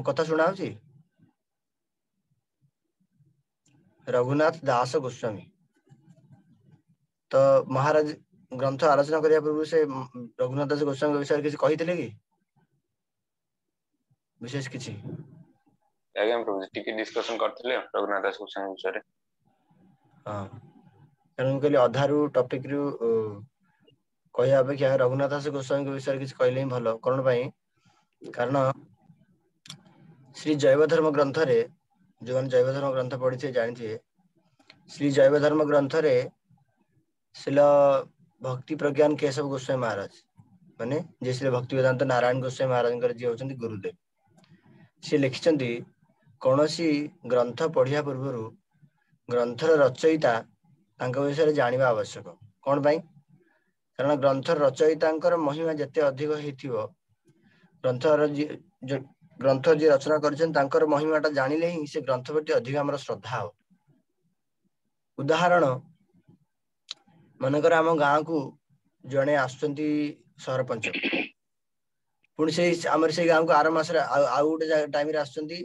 ମୋ କଥା ଶୁଣା ହଉଛି? ରଘୁନାଥ ଦାସ ଗୋସ୍ୱାମୀ। ତ ମହାରାଜ ଗ୍ରନ୍ଥ ଆଲୋଚନା କରିବା ପୂର୍ବରୁ ସେ ରଘୁନାଥ ଦାସ ଗୋସ୍ୱାମୀଙ୍କ ବିଷୟରେ କିଛି କହିଥିଲେ କି ବିଶେଷ କିଛି? ଆଜ୍ଞା ପ୍ରଭୁଜୀ, ଟିକେ ଡିସ୍କସନ କରିଥିଲେ ରଘୁନାଥ ଦାସ ଗୋସ୍ୱାମୀ ବିଷୟରେ। ହଁ, କାରଣ ମୁଁ କହିଲି ଅଧାରୁ ଟପିକ ରୁ କହିବା ଅପେକ୍ଷା ରଘୁନାଥ ଦାସ ଗୋସ୍ୱାମୀଙ୍କ ବିଷୟରେ କିଛି କହିଲେ ହିଁ ଭଲ। କଣ ପାଇଁ? କାରଣ ଶ୍ରୀ ଜୈବ ଧର୍ମ ଗ୍ରନ୍ଥରେ, ଯୋଉମାନେ ଜୈବ ଧର୍ମ ଗ୍ରନ୍ଥ ପଢିଥିବେ ଜାଣିଥିବେ, ଶ୍ରୀ ଜୈବ ଧର୍ମ ଗ୍ରନ୍ଥରେ ଶିଲ ଭକ୍ତି ପ୍ରଜ୍ଞାନ କେଶବ ଗୋସ୍ୱାମୀ ମହାରାଜ, ମାନେ ଯିଏ ଶ୍ରୀ ଭକ୍ତି ବେଦାନ୍ତ ନାରାୟଣ ଗୋସ୍ୱାମୀ ମହାରାଜଙ୍କର ଯିଏ ହଉଛନ୍ତି ଗୁରୁଦେବ, ସିଏ ଲେଖିଛନ୍ତି କୌଣସି ଗ୍ରନ୍ଥ ପଢିବା ପୂର୍ବରୁ ଗ୍ରନ୍ଥର ରଚୟିତା ତାଙ୍କ ବିଷୟରେ ଜାଣିବା ଆବଶ୍ୟକ। କଣ ପାଇଁ? କାରଣ ଗ୍ରନ୍ଥର ରଚୟିତାଙ୍କର ମହିମା ଯେତେ ଅଧିକ ହେଇଥିବ, ଗ୍ରନ୍ଥ ଯିଏ ରଚନା କରିଛନ୍ତି ତାଙ୍କର ମହିମାଟା ଜାଣିଲେ ହିଁ ସେ ଗ୍ରନ୍ଥ ପ୍ରତି ଅଧିକ ଆମର ଶ୍ରଦ୍ଧା ହବ। ଉଦାହରଣ, ମନେକର ଆମ ଗାଁକୁ ଜଣେ ଆସୁଛନ୍ତି ସରପଞ୍ଚ, ପୁଣି ସେଇ ଆମର ସେଇ ଗାଁକୁ ଆର ମାସରେ ଆଉ ଗୋଟେ ଟାଇମରେ ଆସୁଛନ୍ତି,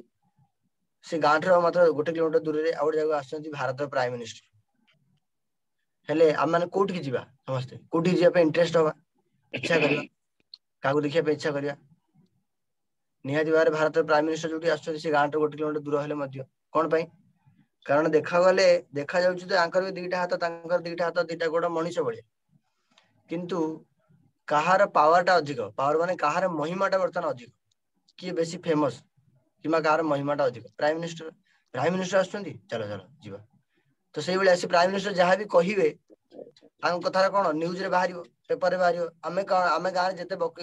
ସେ ଗାଁ ଠାରୁ ମାତ୍ର 1 କିଲୋମିଟର ଦୂରରେ ଆଉ ଗୋଟେ ଜାଗାକୁ ଆସୁଛନ୍ତି ଭାରତର ପ୍ରାଇମ ମିନିଷ୍ଟର। ହେଲେ ଆମେମାନେ କୋଉଠିକି ଯିବା? ସମସ୍ତେ କୋଉଠିକି ଯିବା ପାଇଁ ଇଣ୍ଟରେଷ୍ଟ ହବା, ଇଚ୍ଛା କରିବା, କାହାକୁ ଦେଖିବା ପାଇଁ ଇଚ୍ଛା କରିବା? ନିହାତି ଭାବରେ ଭାରତର ପ୍ରାଇମ ମିନିଷ୍ଟର ଯୋଉଠି ଆସୁଛନ୍ତି ସେ ଗାଁଠୁ 1 କିଲୋମିଟର ଦୂର ହେଲେ ମଧ୍ୟ। କଣ ପାଇଁ? କାରଣ ଦେଖାଗଲେ ଦେଖାଯାଉଛି ତ ଆଙ୍କର ବି ଦିଟା ହାତ, ତାଙ୍କର ଦିଟା ହାତ, ଦିଟା ଗୋଡ, ମଣିଷ ଭଳିଆ, କିନ୍ତୁ କାହାର ପାୱାର ଟା ଅଧିକ? ପାୱାର ମାନେ କାହାର ମହିମା ଟା ବର୍ତ୍ତମାନ ଅଧିକ, କିଏ ବେଶୀ ଫେମସ କିମ୍ବା କାହାର ମହିମା ଟା ଅଧିକ? Prime minister. ପ୍ରାଇମ ମିନିଷ୍ଟର ଆସୁଛନ୍ତି, ଚାଲ ଚାଲ ଯିବା। ତ ସେଇଭଳିଆ ସେ ପ୍ରାଇମ ମିନିଷ୍ଟର ଯାହା ବି କହିବେ ତାଙ୍କ କଥାରେ କଣ ନ୍ୟୁଜରେ ବାହାରିବ, ପେପରରେ ବାହାରିବ। ଆମେ କଣ, ଆମେ ଗାଁରେ ଯେତେ ବକ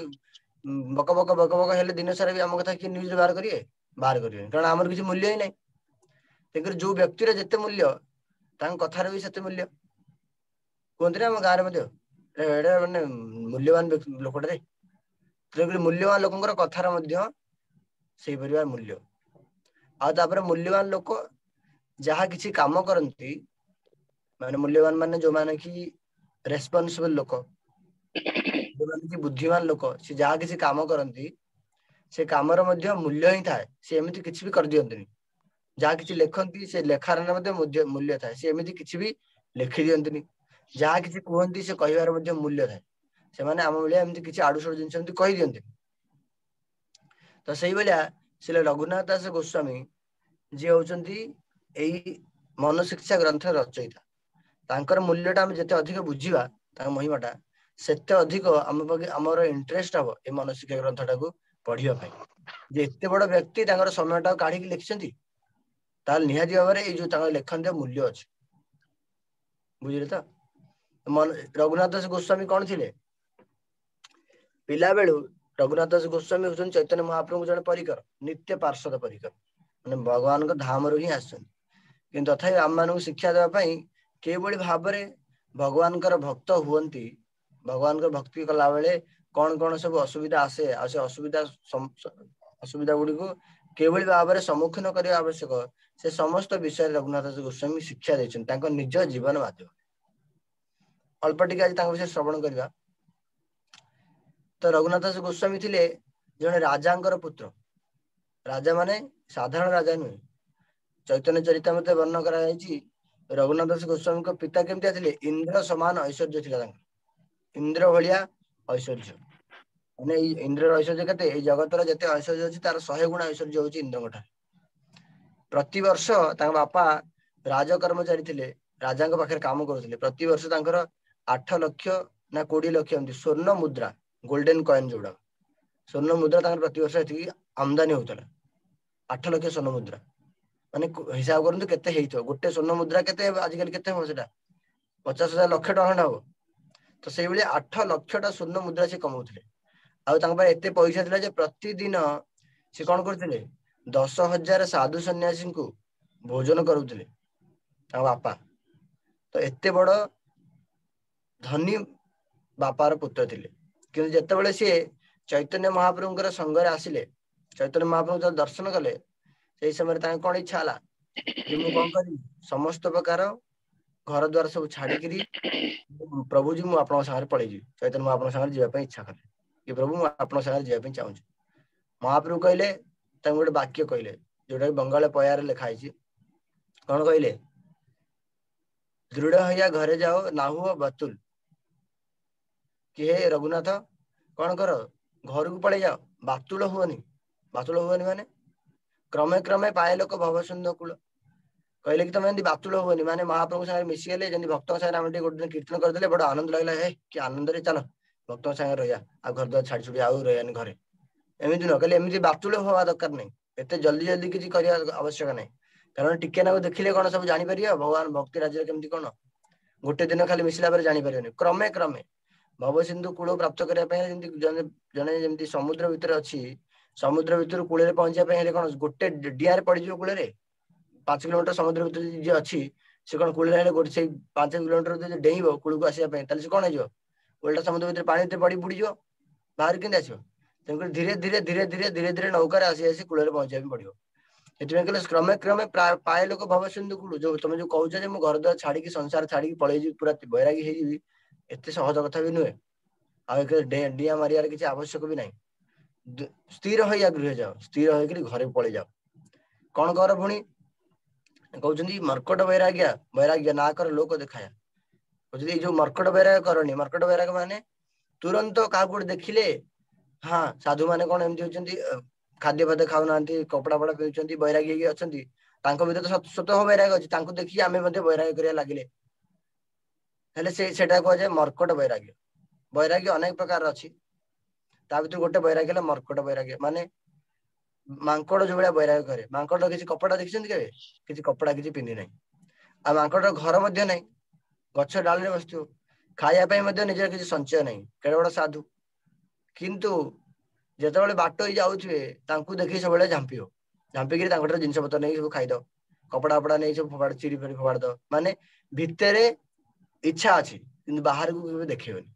ବକ ବକ ବକ ହେଲେ ଦିନ ସାରା ବି ଆମ କଥା କିଏ ନ୍ୟୁଜରେ ବାହାର କରିବେ? ବାହାର କରିବେନି, କାରଣ ଆମର କିଛି ମୂଲ୍ୟ ହିଁ ନାହିଁ। ତେଣୁକରି ଯୋଉ ବ୍ୟକ୍ତିର ଯେତେ ମୂଲ୍ୟ ତାଙ୍କ କଥାର ବି ସେତେ ମୂଲ୍ୟ। କୁହନ୍ତି ନା ଆମ ଗାଁରେ ମଧ୍ୟ, ଏଇଟା ମାନେ ମୂଲ୍ୟବାନ ଲୋକଟାରେ। ତେଣୁକରି ମୂଲ୍ୟବାନ ଲୋକଙ୍କର କଥାର ମଧ୍ୟ ସେଇପରି ଭାବେ ମୂଲ୍ୟ। ଆଉ ତାପରେ ମୂଲ୍ୟବାନ ଲୋକ ଯାହା କିଛି କାମ କରନ୍ତି, ମାନେ ମୂଲ୍ୟବାନ ମାନେ ଯୋଉମାନେ କି ରେସ୍ପନ୍ସିବଲ ଲୋକ, ଯୋଉମାନେ କି ବୁଦ୍ଧିମାନ ଲୋକ, ସେ ଯାହା କିଛି କାମ କରନ୍ତି ସେ କାମର ମଧ୍ୟ ମୂଲ୍ୟ ହିଁ ଥାଏ। ସେ ଏମିତି କିଛି ବି କରିଦିଅନ୍ତିନି। ଯାହା କିଛି ଲେଖନ୍ତି ସେ ଲେଖାର ମଧ୍ୟ ମୂଲ୍ୟ ଥାଏ। ସେ ଏମିତି କିଛି ବି ଲେଖି ଦିଅନ୍ତିନି। ଯାହା କିଛି କୁହନ୍ତି ସେ କହିବାର ମଧ୍ୟ ମୂଲ୍ୟ ଥାଏ। ସେମାନେ ଆମ ଭଳିଆ ଏମିତି କିଛି ଆଡୁ ସଡୁ ଜିନିଷ ଏମିତି କହିଦିଅନ୍ତିନି। ତ ସେଇଭଳିଆ ଶ୍ରୀ ରଘୁନାଥ ଦାସ ଗୋସ୍ୱାମୀ ଯିଏ ହଉଛନ୍ତି ଏଇ ମନୋଶିକ୍ଷା ଗ୍ରନ୍ଥର ରଚୟିତା, ତାଙ୍କର ମୂଲ୍ୟଟା ଆମେ ଯେତେ ଅଧିକ ବୁଝିବା, ତାଙ୍କ ମହିମାଟା ସେତେ ଅଧିକ ଆମ ପାଖେ ଆମର ଇଣ୍ଟରେଷ୍ଟ ହବ ଏ ମନୋଶିକ୍ଷା ଗ୍ରନ୍ଥଟାକୁ ପଢିବା ପାଇଁ। ଯେ ଏତେ ବଡ ବ୍ୟକ୍ତି ତାଙ୍କର ସମୟଟାକୁ କାଢିକି ଲେଖିଛନ୍ତି, ତାହେଲେ ନିହାତି ଭାବରେ ଏଇ ଯୋଉ ତାଙ୍କର ଲେଖନ୍ତି ମୂଲ୍ୟ ଅଛି। ବୁଝିଲେ ତ? ରଘୁନାଥ ଦାସ ଗୋସ୍ୱାମୀ କଣ ଥିଲେ ପିଲାବେଳୁ? ରଘୁନାଥ ଦାସ ଗୋସ୍ୱାମୀ ହଉଛନ୍ତି ଚୈତନ୍ୟ ମହାପ୍ରଭୁଙ୍କ ଜଣେ ପରିକର, ନିତ୍ୟ ପାର୍ଶ୍ୱଦ ପରିକର, ମାନେ ଭଗବାନଙ୍କ ଧାମରୁ ହିଁ ଆସିଛନ୍ତି। କିନ୍ତୁ ତଥାପି ଆମମାନଙ୍କୁ ଶିକ୍ଷା ଦେବା ପାଇଁ କିଭଳି ଭାବରେ ଭଗବାନଙ୍କର ଭକ୍ତ ହୁଅନ୍ତି, ଭଗବାନଙ୍କର ଭକ୍ତି କଲା ବେଳେ କଣ କଣ ସବୁ ଅସୁବିଧା ଆସେ, ଆଉ ସେ ଅସୁବିଧା ଗୁଡିକୁ କିଭଳି ଭାବରେ ସମ୍ମୁଖୀନ କରିବା ଆବଶ୍ୟକ, ସେ ସମସ୍ତ ବିଷୟରେ ରଘୁନାଥ ଦାସ ଗୋସ୍ୱାମୀ ଶିକ୍ଷା ଦେଇଛନ୍ତି ତାଙ୍କ ନିଜ ଜୀବନ ମାଧ୍ୟମରେ। ଅଳ୍ପ ଟିକେ ଆଜି ତାଙ୍କ ବିଷୟରେ ଶ୍ରବଣ କରିବା। ତ ରଘୁନାଥ ଦାସ ଗୋସ୍ୱାମୀ ଥିଲେ ଜଣେ ରାଜାଙ୍କର ପୁତ୍ର। ରାଜା ମାନେ ସାଧାରଣ ରାଜା ନୁହେଁ। ଚୈତନ୍ୟ ଚରିତାମୃତରେ ବର୍ଣ୍ଣନା କରାଯାଇଛି ରଘୁନାଥ ଦାସ ଗୋସ୍ୱାମୀଙ୍କ ପିତା କେମିତିଆ ଥିଲେ? ଇନ୍ଦ୍ର ସମାନ ଐଶ୍ୱର୍ଯ୍ୟ ଥିଲା ତାଙ୍କର, ଇନ୍ଦ୍ର ଭଳିଆ ଐଶ୍ୱର୍ଯ୍ୟ। ମାନେ ଏଇ ଇନ୍ଦ୍ରର ଐଶ୍ୱର୍ଯ୍ୟ କେତେ? ଏଇ ଜଗତର ଯେତେ ଐଶ୍ୱର୍ଯ୍ୟ ଅଛି ତାର 100 ଗୁଣା ଐଶ୍ୱର୍ଯ୍ୟ ହଉଛି ଇନ୍ଦ୍ରଙ୍କ ଠାରେ। ପ୍ରତିବର୍ଷ ତାଙ୍କ ବାପା ରାଜ କର୍ମଚାରୀ ଥିଲେ, ରାଜାଙ୍କ ପାଖରେ କାମ କରୁଥିଲେ। ପ୍ରତିବର୍ଷ ତାଙ୍କର 8 ଲକ୍ଷ ନା 20 ଲକ୍ଷ ଏମିତି ସ୍ଵର୍ଣ୍ଣ ମୁଦ୍ରା, ଗୋଲ୍ଡେନ କଏନ ଯୋଉଟା, ସ୍ଵର୍ଣ୍ଣ ମୁଦ୍ରା ତାଙ୍କର ପ୍ରତିବର୍ଷ ଏତିକି ଆମଦାନୀ ହଉଥିଲା। 8 ଲକ୍ଷ ସ୍ଵର୍ଣ୍ଣ ମୁଦ୍ରା, ମାନେ ହିସାବ କରନ୍ତୁ କେତେ ହେଇଥିବ। ଗୋଟେ ସ୍ଵର୍ଣ୍ଣ ମୁଦ୍ରା କେତେ ହେବ ଆଜିକାଲି? କେତେ ହବ ସେଟା? 50,000 ଲକ୍ଷ ଟଙ୍କା ଖଣ୍ଡେ ହବ। ତ ସେଇଭଳି 8 ଲକ୍ଷଟା ସ୍ଵର୍ଣ୍ଣ ମୁଦ୍ରା ସେ କମାଉଥିଲେ। ଆଉ ତାଙ୍କ ପାଖରେ ଏତେ ପଇସା ଥିଲା ଯେ ପ୍ରତିଦିନ ସେ କଣ କରୁଥିଲେ? 10,000 ସାଧୁ ସନ୍ନ୍ୟାସୀଙ୍କୁ ଭୋଜନ କରୁଥିଲେ ତାଙ୍କ ବାପା। ତ ଏତେ ବଡ ଧନୀ ବାପାର ପୁତ୍ର ଥିଲେ। କିନ୍ତୁ ଯେତେବେଳେ ସିଏ ଚୈତନ୍ୟ ମହାପ୍ରଭୁଙ୍କର ସଙ୍ଗରେ ଆସିଲେ, ଚୈତନ୍ୟ ମହାପ୍ରଭୁଙ୍କୁ ଯେତେବେଳେ ଦର୍ଶନ କଲେ, ସେଇ ସମୟରେ ତାଙ୍କ କଣ ଇଚ୍ଛା ହେଲା ଯେ ମୁଁ କଣ କରିବି, ସମସ୍ତ ପ୍ରକାର ଘର ଦ୍ୱାର ସବୁ ଛାଡିକିରି ପ୍ରଭୁଜୀ ମୁଁ ଆପଣଙ୍କ ସାଙ୍ଗରେ ପଳେଇଯିବି। ଚୈତନ୍ୟ ମହାପ୍ରଭୁଙ୍କ ସାଙ୍ଗରେ ଯିବା ପାଇଁ ଇଚ୍ଛା କଲେ କି ପ୍ରଭୁ ମୁଁ ଆପଣଙ୍କ ସାଙ୍ଗରେ ଯିବା ପାଇଁ ଚାହୁଁଛି। ମହାପ୍ରଭୁ କହିଲେ ତାଙ୍କୁ ଗୋଟେ ବାକ୍ୟ କହିଲେ, ଯୋଉଟା କି ବଙ୍ଗାଳ ପୟାରେ ଲେଖା ହେଇଛି। କଣ କହିଲେ? ଦୃଢ ହଇଆ ଘରେ ଯାଅ ନାହୁଅ ବାତୁଲ। କି ହେ ରଘୁନାଥ କଣ କର, ଘରକୁ ପଳେଇ ଯାଅ, ବାତୁଳ ହୁଅନି। ବାତୁଳ ହୁଅନି ମାନେ କ୍ରମେ କ୍ରମେ ପାଏ ଲୋକ ଭବସିନ୍ଧୁ କୂଳ। କହିଲେ କି ତମେ ଏମିତି ବାତୁଳ ହୁଅନି, ମାନେ ମହାପ୍ରଭୁଙ୍କ ସାଙ୍ଗରେ ମିଶିଗଲେ, ଯେମିତି ଭକ୍ତଙ୍କ ସାଙ୍ଗରେ ଆମେ ଟିକେ ଗୋଟେ ଦିନ କୀର୍ତ୍ତନ କରିଦେଲେ ବଡ ଆନନ୍ଦ ଲାଗିଲା, ହେ କି ଆନନ୍ଦରେ ଚାଲ ଭକ୍ତଙ୍କ ସାଙ୍ଗରେ ରହିବା, ଆଉ ଘର ଦ୍ୱାର ଛାଡି ଛୁଡି ଆଉ ରହିବାନି ଘରେ, ଏମିତି ନୁହଁ। କହିଲେ ଏମିତି ବାତୁଳ ହବା ଦରକାର ନାହିଁ, ଏତେ ଜଲ୍ଦି ଜଲ୍ଦି କିଛି କରିବା ଆବଶ୍ୟକ ନାହିଁ। କାରଣ ଟିକେ ନାକୁ ଦେଖିଲେ କଣ ସବୁ ଜାଣିପାରିବ ଭଗବାନ ଭକ୍ତି ରାଜ୍ୟରେ କେମିତି କଣ, ଗୋଟେ ଦିନ ଖାଲି ମିଶିଲା ପରେ ଜାଣିପାରିବନି। କ୍ରମେ କ୍ରମେ ଭବସିନ୍ଧୁ କୂଳ ପ୍ରାପ୍ତ କରିବା ପାଇଁ ଯେମିତି ଜଣେ ଯେମିତି ସମୁଦ୍ର ଭିତରେ ଅଛି, ସମୁଦ୍ର ଭିତରୁ କୂଳରେ ପହଞ୍ଚିବା ପାଇଁ ହେଲେ କଣ ଗୋଟେ ଡିଆରେ ପଡିଯିବ କୂଳରେ? 5 କିଲୋମିଟର ସମୁଦ୍ର ଭିତରେ ଯିଏ ଅଛି ସେ କଣ କୂଳରେ ହେଲେ ଗୋଟେ ସେଇ 5 କିଲୋମିଟର ଯଦି ଡେଇଁବ କୂଳକୁ ଆସିବା ପାଇଁ, ତାହେଲେ ସେ କଣ ହେଇଯିବ? ଓଲଟା ସମୁଦ୍ର ଭିତରେ ପାଣି ଭିତରେ ପଡି ବୁଡିଯିବ, ବାହାରୁ କେମିତି ଆସିବ? ତେଣୁକରି ଧୀରେ ଧୀରେ ଧୀରେ ଧୀରେ ଧୀରେ ଧୀରେ ନୌକାରେ ଆସି ଆସି କୂଳରେ ପହଞ୍ଚିବା ପାଇଁ ପଡିବ। ସେଥିପାଇଁ କହିଲେ କ୍ରମେ କ୍ରମେ ପାଏ ଲୋକ ଭବସିନ୍ଧୁ କୂଳ। ଯୋଉ ତମେ ଯୋଉ କହୁଛ ଯେ ମୁଁ ଘର ଦ୍ୱାର ଛାଡିକି ସଂସାର ଛାଡିକି ପଳେଇଯିବି, ପୁରା ବୈରାଗୀ ହେଇଯିବି, ଏତେ ସହଜ କଥା ବି ନୁହେଁ। ଆଉ ଏଥିରେ ଡିଆଁ ମାରିବାର କିଛି ଆବଶ୍ୟକ ବି ନାହିଁ। ସ୍ଥିର ହୋଇ ଗୃହ ଯାଅ, ସ୍ଥିର ହେଇକିରି ଘରେ ପଳେଇ ଯାଅ। କଣ କର ପୁଣି କହୁଛନ୍ତି ମର୍କଟ ବୈରାଗ୍ୟ, ବୈରାଗ୍ୟ ନା କର ଲୋକ ଦେଖାୟା। କହୁଛନ୍ତି ଏଇ ଯୋଉ ମର୍କଟ ବୈରାଗ୍ୟ କରନି, ମର୍କଟ ବୈରାଗ୍ୟ ମାନେ ତୁରନ୍ତ କାହାକୁ ଗୋଟେ ଦେଖିଲେ, ହଁ ସାଧୁ ମାନେ କଣ ଏମିତି ହଉଛନ୍ତି, ଖାଦ୍ୟ ଫାଦ୍ୟ ଖାଉନାହାନ୍ତି, କପଡା ଫପଡା ପିନ୍ଧୁଛନ୍ତି, ବୈରାଗୀ ହେଇକି ଅଛନ୍ତି, ତାଙ୍କ ଭିତରେ ତ ସ୍ୱତଃ ବୈରାଗ ଅଛି, ତାଙ୍କୁ ଦେଖିକି ଆମେ ମଧ୍ୟ ବୈରାଗ୍ୟ କରିବା ଲାଗିଲେ, ହେଲେ ସେଟା କୁହାଯାଏ ମର୍କଟ ବୈରାଗ୍ୟ। ବୈରାଗ୍ୟ ଅନେକ ପ୍ରକାରର ଅଛି, ତା ଭିତରୁ ଗୋଟେ ବୈରାଗ୍ୟ ହେଲା ମର୍କଟ ବୈରାଗ୍ୟ। ମାନେ ମାଙ୍କଡ ଯୋଉ ଭଳିଆ ବୈରାଗ୍ୟ କରେ, ମାଙ୍କଡ କିଛି କପଡା ଦେଖିଛନ୍ତି କେବେ? କିଛି କପଡା କିଛି ପିନ୍ଧି ନାହିଁ, ଆଉ ମାଙ୍କଡର ଘର ମଧ୍ୟ ନାହିଁ, ଗଛ ଡାଳରେ ବସିଥିବ, ଖାଇବା ପାଇଁ ମଧ୍ୟ ନିଜର କିଛି ସଞ୍ଚୟ ନାହିଁ, କେଡ଼େ ବଡ ସାଧୁ। କିନ୍ତୁ ଯେତେବେଳେ ବାଟ ହେଇ ଯାଉଥିବେ ତାଙ୍କୁ ଦେଖି ସବୁବେଳେ ଝାମ୍ପିବ, ଝାମ୍ପିକିରି ତାଙ୍କଠାରୁ ଜିନିଷ ପତ୍ର ନେଇକି ସବୁ ଖାଇଦବ, କପଡା ଫପଡା ନେଇ ସବୁ ଫୋପାଡ଼ି ଚିରି ଫିରି ଫୋପାଡ଼ି ଦବ। ମାନେ ଭିତରେ ଇଚ୍ଛା ଅଛି କିନ୍ତୁ ବାହାରକୁ କେବେ ଦେଖେଇବନି।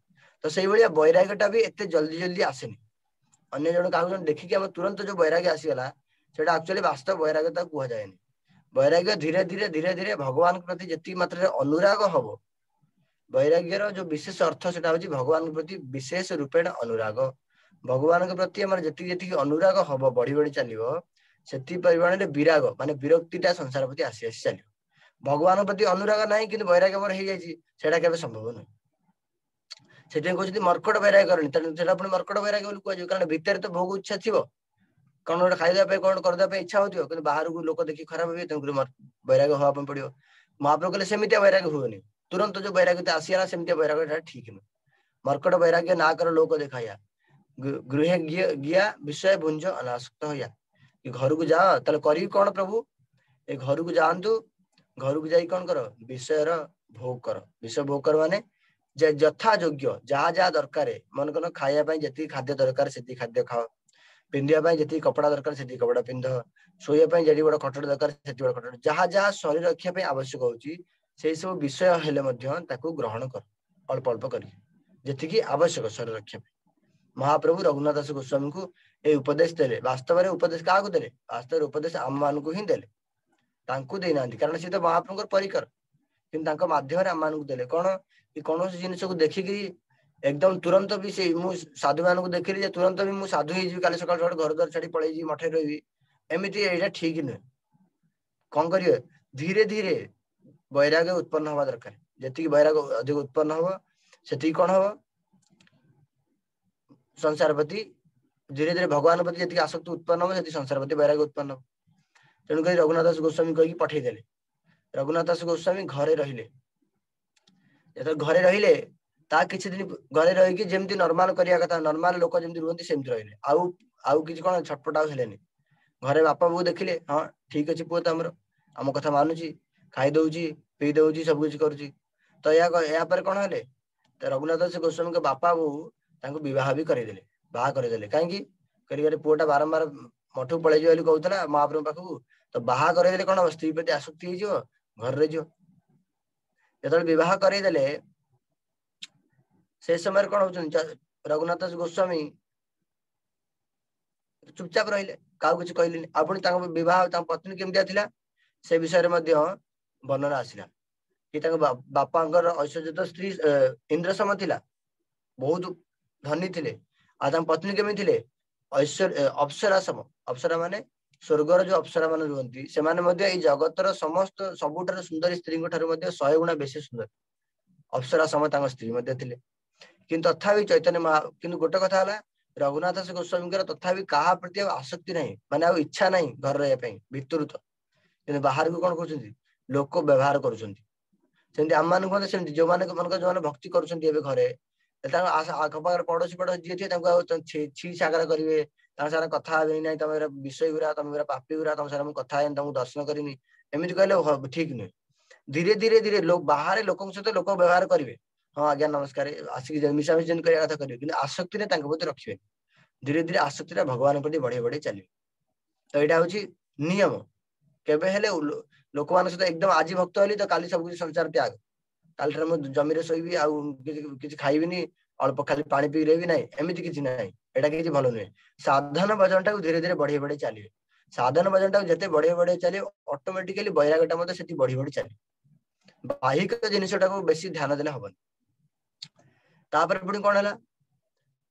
ତ ସେଇଭଳିଆ ବୈରାଗ୍ୟଟା ବି ଏତେ ଜଲ୍ଦି ଜଲ୍ଦି ଆସେନି। ଅନ୍ୟ ଜଣ କାହାକୁ ଜଣେ ଦେଖିକି ଆମେ ତୁରନ୍ତ ଯୋଉ ବୈରାଗ୍ୟ ଆସିଗଲା, ସେଟା ଆକ୍ଚୁଆଲି ବାସ୍ତବ ବୈରାଗ୍ୟ ତାକୁ କୁହାଯାଏନି। ବୈରାଗ୍ୟ ଧୀରେ ଧୀରେ ଧୀରେ ଧୀରେ ଭଗବାନଙ୍କ ପ୍ରତି ଯେତିକି ମାତ୍ରାରେ ଅନୁରାଗ ହବ, ବୈରାଗ୍ୟର ଯୋଉ ବିଶେଷ ଅର୍ଥ ସେଟା ହଉଛି ଭଗବାନଙ୍କ ପ୍ରତି ବିଶେଷ ରୂପେଣ ଅନୁରାଗ। ଭଗବାନଙ୍କ ପ୍ରତି ଆମର ଯେତିକି ଯେତିକି ଅନୁରାଗ ହବ, ବଢି ବଢି ଚାଲିବ, ସେତିକି ପରିମାଣରେ ବିରାଗ ମାନେ ବିରକ୍ତିଟା ସଂସାର ପ୍ରତି ଆସି ଆସି ଚାଲିବ। ଭଗବାନଙ୍କ ପ୍ରତି ଅନୁରାଗ ନାହିଁ କିନ୍ତୁ ବୈରାଗ୍ୟ ମୋର ହେଇଯାଇଛି, ସେଇଟା କେବେ ସମ୍ଭବ ନୁହେଁ। ସେଥିପାଇଁ କହୁଛନ୍ତି ମର୍କଟ ବୈରାଗ୍ୟ କରନି, ତେଣୁ ସେଟା ପୁଣି ମର୍କଟ ବୈରାଗ୍ୟ ବୋଲି କୁହାଯିବ। କାରଣ ଭିତରେ ତ ଭୋଗ ଇଚ୍ଛା ଥିବ, କଣ ଗୋଟେ ଖାଇବା ପାଇଁ କଣ କରିଦେବା ପାଇଁ ଇଚ୍ଛା ହଉଥିବ, କିନ୍ତୁ ବାହାରକୁ ଲୋକ ଦେଖି ଖରାପ ହେବେ, ତେଣୁକରି ବୈରାଗ୍ୟ ହବା ପାଇଁ ପଡିବ। ମହାପ୍ରଭୁ କହିଲେ ସେମିତିଆ ବୈରାଗ୍ୟ ହୁଏନି, ତୁରନ୍ତ ଯୋଉ ବୈରାଗ୍ୟ ଆସିଗଲା ସେମିତିଆ ବୈରାଗ୍ୟ ଟା ଠିକ ନୁହେଁ। ମର୍କଟ ବୈରାଗ୍ୟ ନା କର ଲୋକ ଦେଖାୟା, ଗୃହେ ଗିଆ ବିଷୟ ଭୁଞ୍ଜ ଅନାସକ୍ତ ହଇଆ। କି ଘରକୁ ଯାଅ, ତାହେଲେ କରିବି କଣ ପ୍ରଭୁ? ଏ ଘରକୁ ଯାଆନ୍ତୁ, ଘରକୁ ଯାଇ କଣ କର? ବିଷୟର ଭୋଗ କର। ବିଷୟ ଭୋଗ କର ମାନେ ଯଥା ଯୋଗ୍ୟ, ଯାହା ଯାହା ଦରକାର, ମନେ କର ଖାଇବା ପାଇଁ ଯେତିକି ଖାଦ୍ୟ ଦରକାର ସେତିକି ଖାଦ୍ୟ ଖାଅ, ପିନ୍ଧିବା ପାଇଁ ଯେତିକି କପଡା ଦରକାର ସେତିକି କପଡା ପିନ୍ଧ, ଶୋଇବା ପାଇଁ ଯେତିକି ବଡ ଖଟଟା ଦରକାର ସେତିକି ବଡ ଖଟ, ଯାହା ଯାହା ଶରୀର ରକ୍ଷା ପାଇଁ ଆବଶ୍ୟକ ହଉଛି ସେଇ ସବୁ ବିଷୟ ହେଲେ ମଧ୍ୟ ତାକୁ ଗ୍ରହଣ କର, ଅଳ୍ପ ଅଳ୍ପ କରିକି, ଯେତିକି ଆବଶ୍ୟକ ଶରୀର ରକ୍ଷା ପାଇଁ। ମହାପ୍ରଭୁ ରଘୁନାଥ ଦାସ ଗୋସ୍ୱାମୀଙ୍କୁ ଏଇ ଉପଦେଶ ଦେଲେ। ବାସ୍ତବରେ ଉପଦେଶ କାହାକୁ ଦେଲେ? ବାସ୍ତବରେ ଉପଦେଶ ଆମମାନଙ୍କୁ ହିଁ ଦେଲେ, ତାଙ୍କୁ ଦେଇନାହାନ୍ତି, କାରଣ ସେ ତ ମହାପ୍ରଭୁଙ୍କର ପରିକର, କିନ୍ତୁ ତାଙ୍କ ମାଧ୍ୟମରେ ଆମମାନଙ୍କୁ ଦେଲେ। କଣ କି କୌଣସି ଜିନିଷକୁ ଦେଖିକିରି ଏକଦମ ତୁରନ୍ତ ବି ସେଇ ମୁଁ ସାଧୁ ମାନଙ୍କୁ ଦେଖିଲି ଯେ ତୁରନ୍ତ ବି ମୁଁ ସାଧୁ ହେଇଯିବି, କାଲି ସକାଳୁ ସକାଳୁ ଘର ଦ୍ୱାର ଛାଡି ପଳେଇଯିବି, ମଠରେ ରହିବି, ଏମିତି ଏଇଟା ଠିକ ନୁହେଁ। କଣ କରିବେ? ଧୀରେ ଧୀରେ ବୈରାଗ୍ୟ ଉତ୍ପନ୍ନ ହବା ଦରକାର। ଯେତିକି ବୈରାଗ୍ୟ ଅଧିକ ଉତ୍ପନ୍ନ ହବ ସେତିକି କଣ ହବ, ସଂସାର ପ୍ରତି ଧୀରେ ଧୀରେ ଭଗବାନ ପ୍ରତି ଯେତିକି ଆସକ୍ତି ଉତ୍ପନ୍ନ ହବ ସେତିକି ସଂସାର ପ୍ରତି ବୈରାଗ୍ୟ ଉତ୍ପନ୍ନ ହବ। ତେଣୁକରି ରଘୁନାଥ ଦାସ ଗୋସ୍ୱାମୀ କହିକି ପଠେଇଦେଲେ। ରଘୁନାଥ ଦାସ ଗୋସ୍ୱାମୀ ଘରେ ରହିଲେ। ଯେତେବେଳେ ଘରେ ରହିଲେ ତା କିଛି ଦିନ ଘରେ ରହିକି ଯେମିତି ନର୍ମାଲ କରିବା କଥା, ନର୍ମାଲ ଲୋକ ଯେମିତି ରୁହନ୍ତି ସେମିତି ରହିଲେ। ଆଉ କିଛି କଣ ଛଟପଟ ଆଉ ହେଲେନି। ଘରେ ବାପା ବୋଉ ଦେଖିଲେ, ହଁ ଠିକ ଅଛି ପୁଅ ତ ଆମର ଆମ କଥା ମାନୁଛି, ଖାଇ ଦଉଛି, ପିଇ ଦଉଛି, ସବୁ କିଛି କରୁଛି। ତ ଏହା ପରେ କଣ ହେଲେ, ତ ରଘୁନାଥ ଦାସ ଗୋସ୍ୱାମୀଙ୍କ ବାପା ବୋଉ ତାଙ୍କୁ ବିବାହ ବି କରେଇଦେଲେ, ବାହା କରେଇଦେଲେ। କାହିଁକି? କରିବାରେ ପୁଅଟା ବାରମ୍ବାର ମଠକୁ ପଳେଇଯିବ ବୋଲି କହୁଥିଲା ମହାପ୍ରଭୁଙ୍କ ପାଖକୁ, ତ ବାହା କରେଇଦେଲେ କଣ ହବ, ସ୍ତ୍ରୀ ପ୍ରତି ଆସକ୍ତି ହେଇଯିବ, ଘରେ ରହିଯିବ। ଯେତେବେଳେ ବିବାହ କରେଇଦେଲେ ସେ ସମୟରେ କଣ ହଉଛନ୍ତି, ରଘୁନାଥ ଦାସ ଗୋସ୍ୱାମୀ ଚୁପଚାପ ରହିଲେ, କାହାକୁ କିଛି କହିଲେନି। ଆଉ ପୁଣି ତାଙ୍କ ବିବାହ ତାଙ୍କ ପତ୍ନୀ କେମିତିଆ ଥିଲା ସେ ବିଷୟରେ ମଧ୍ୟ ବର୍ଣ୍ଣନା ଆସିଲା କି ତାଙ୍କ ବାପାଙ୍କର ଐଶ୍ୱର୍ଯ୍ୟ ତ ସ୍ତ୍ରୀ ଇନ୍ଦ୍ରସମ ଥିଲା, ବହୁତ ଧନୀ ଥିଲେ। ଆଉ ତାଙ୍କ ପତ୍ନୀ କେମିତି ଥିଲେ, ଐଶ୍ୱର୍ଯ୍ୟ ଅପ୍ସରା ସମ। ଅପ୍ସରା ମାନେ ସ୍ୱର୍ଗର ଯୋଉ ଅପ୍ସରା ମାନେ ରୁହନ୍ତି ସେମାନେ ମଧ୍ୟ ଏଇ ଜଗତର ସମସ୍ତ ସବୁଠାରୁ ସୁନ୍ଦରୀ ସ୍ତ୍ରୀଙ୍କ ଠାରୁ ମଧ୍ୟ 100 ଗୁଣା ବେଶୀ ସୁନ୍ଦର ଅପ୍ସରା ସମ ତାଙ୍କ ସ୍ତ୍ରୀ ମଧ୍ୟ ଥିଲେ। କିନ୍ତୁ ତଥାପି ଚୈତନ୍ୟ ମହା, କିନ୍ତୁ ଗୋଟେ କଥା ହେଲା ରଘୁନାଥ ଦାସ ଗୋସ୍ୱାମୀଙ୍କର ତଥାପି କାହା ପ୍ରତି ଆଉ ଆସକ୍ତି ନାହିଁ, ମାନେ ଆଉ ଇଚ୍ଛା ନାହିଁ ଘରେ ରହିବା ପାଇଁ ଭିତରୁ ତ, କିନ୍ତୁ ବାହାରକୁ କଣ କରୁଛନ୍ତି ଲୋକ ବ୍ୟବହାର କରୁଛନ୍ତି। ସେମିତି ଆମମାନଙ୍କୁ ମଧ୍ୟ ସେମିତି ଯୋଉମାନେ ମନେକର ଯୋଉମାନେ ଭକ୍ତି କରୁଛନ୍ତି ଏବେ ଘରେ, ତାଙ୍କ ଆଖପାଖରେ ପଡୋଶୀ ପଡୋଶୀ ଯିଏ ଥିବେ ତାଙ୍କୁ ଆଉ ଛି ଛାକରା କରିବେ, ତାଙ୍କ ସାଙ୍ଗରେ କଥା ହେବେନି, ନାଇଁ ତମେ ବିଷୟ ଗୁରା, ତମେ ପୁରା ପାପି ଗୁରା, ତମ ସାଙ୍ଗରେ ମୁଁ କଥା ହେନି, ତମକୁ ଦର୍ଶନ କରିନି, ଏମିତି କହିଲେ ଠିକ ନୁହେଁ। ଧୀରେ ଧୀରେ ଧୀରେ ବାହାରେ ଲୋକଙ୍କ ସହିତ ଲୋକ ବ୍ୟବହାର କରିବେ, ହଁ ଆଜ୍ଞା ନମସ୍କାର, ଆସିକି ମିଶାମିଶି ଯେମିତି କରିବା କଥା କରିବେ, କିନ୍ତୁ ଆସକ୍ତିରେ ତାଙ୍କ ପ୍ରତି ରଖିବେନି। ଧୀରେ ଧୀରେ ଆସକ୍ତିଟା ଭଗବାନଙ୍କ ପ୍ରତି ବଢେଇ ବଢେଇ ଚାଲିବେ। ତ ଏଇଟା ହଉଛି ନିୟମ। କେବେ ହେଲେ ଲୋକମାନଙ୍କ ସହିତ ଏକଦମ ଆଜି ଭକ୍ତ ହେଲି ତ କାଲି ସବୁ କିଛି ସଂସାର ତ୍ୟାଗ, କାଲିଠାରୁ ମୁଁ ଜମିରେ ଶୋଇବି ଆଉ କିଛି ଖାଇବିନି, ଅଳ୍ପ ଖାଲି ପାଣି ପିଇ ରହିବି, ନାହିଁ ଏମିତି କିଛି ନାହିଁ, ଏଇଟା କିଛି ଭଲ ନୁହେଁ। ସାଧନ ଭଜନ ଟାକୁ ଧୀରେ ଧୀରେ ବଢେଇ ବଢେଇ ଚାଲିବେ। ସାଧନ ଭଜନ ଟାକୁ ଯେତେ ବଢେଇ ବଢେଇ ଚାଲିବେ ଅଟୋମେଟିକାଲି ବୈରାଗ୍ୟଟା ମଧ୍ୟ ସେଠି ବଢି ବଢି ଚାଲିବ। ବାହ୍ୟିକ ଜିନିଷଟାକୁ ବେଶୀ ଧ୍ୟାନ ଦେଲେ ହବନି। ତାପରେ ପୁଣି କଣ ହେଲା,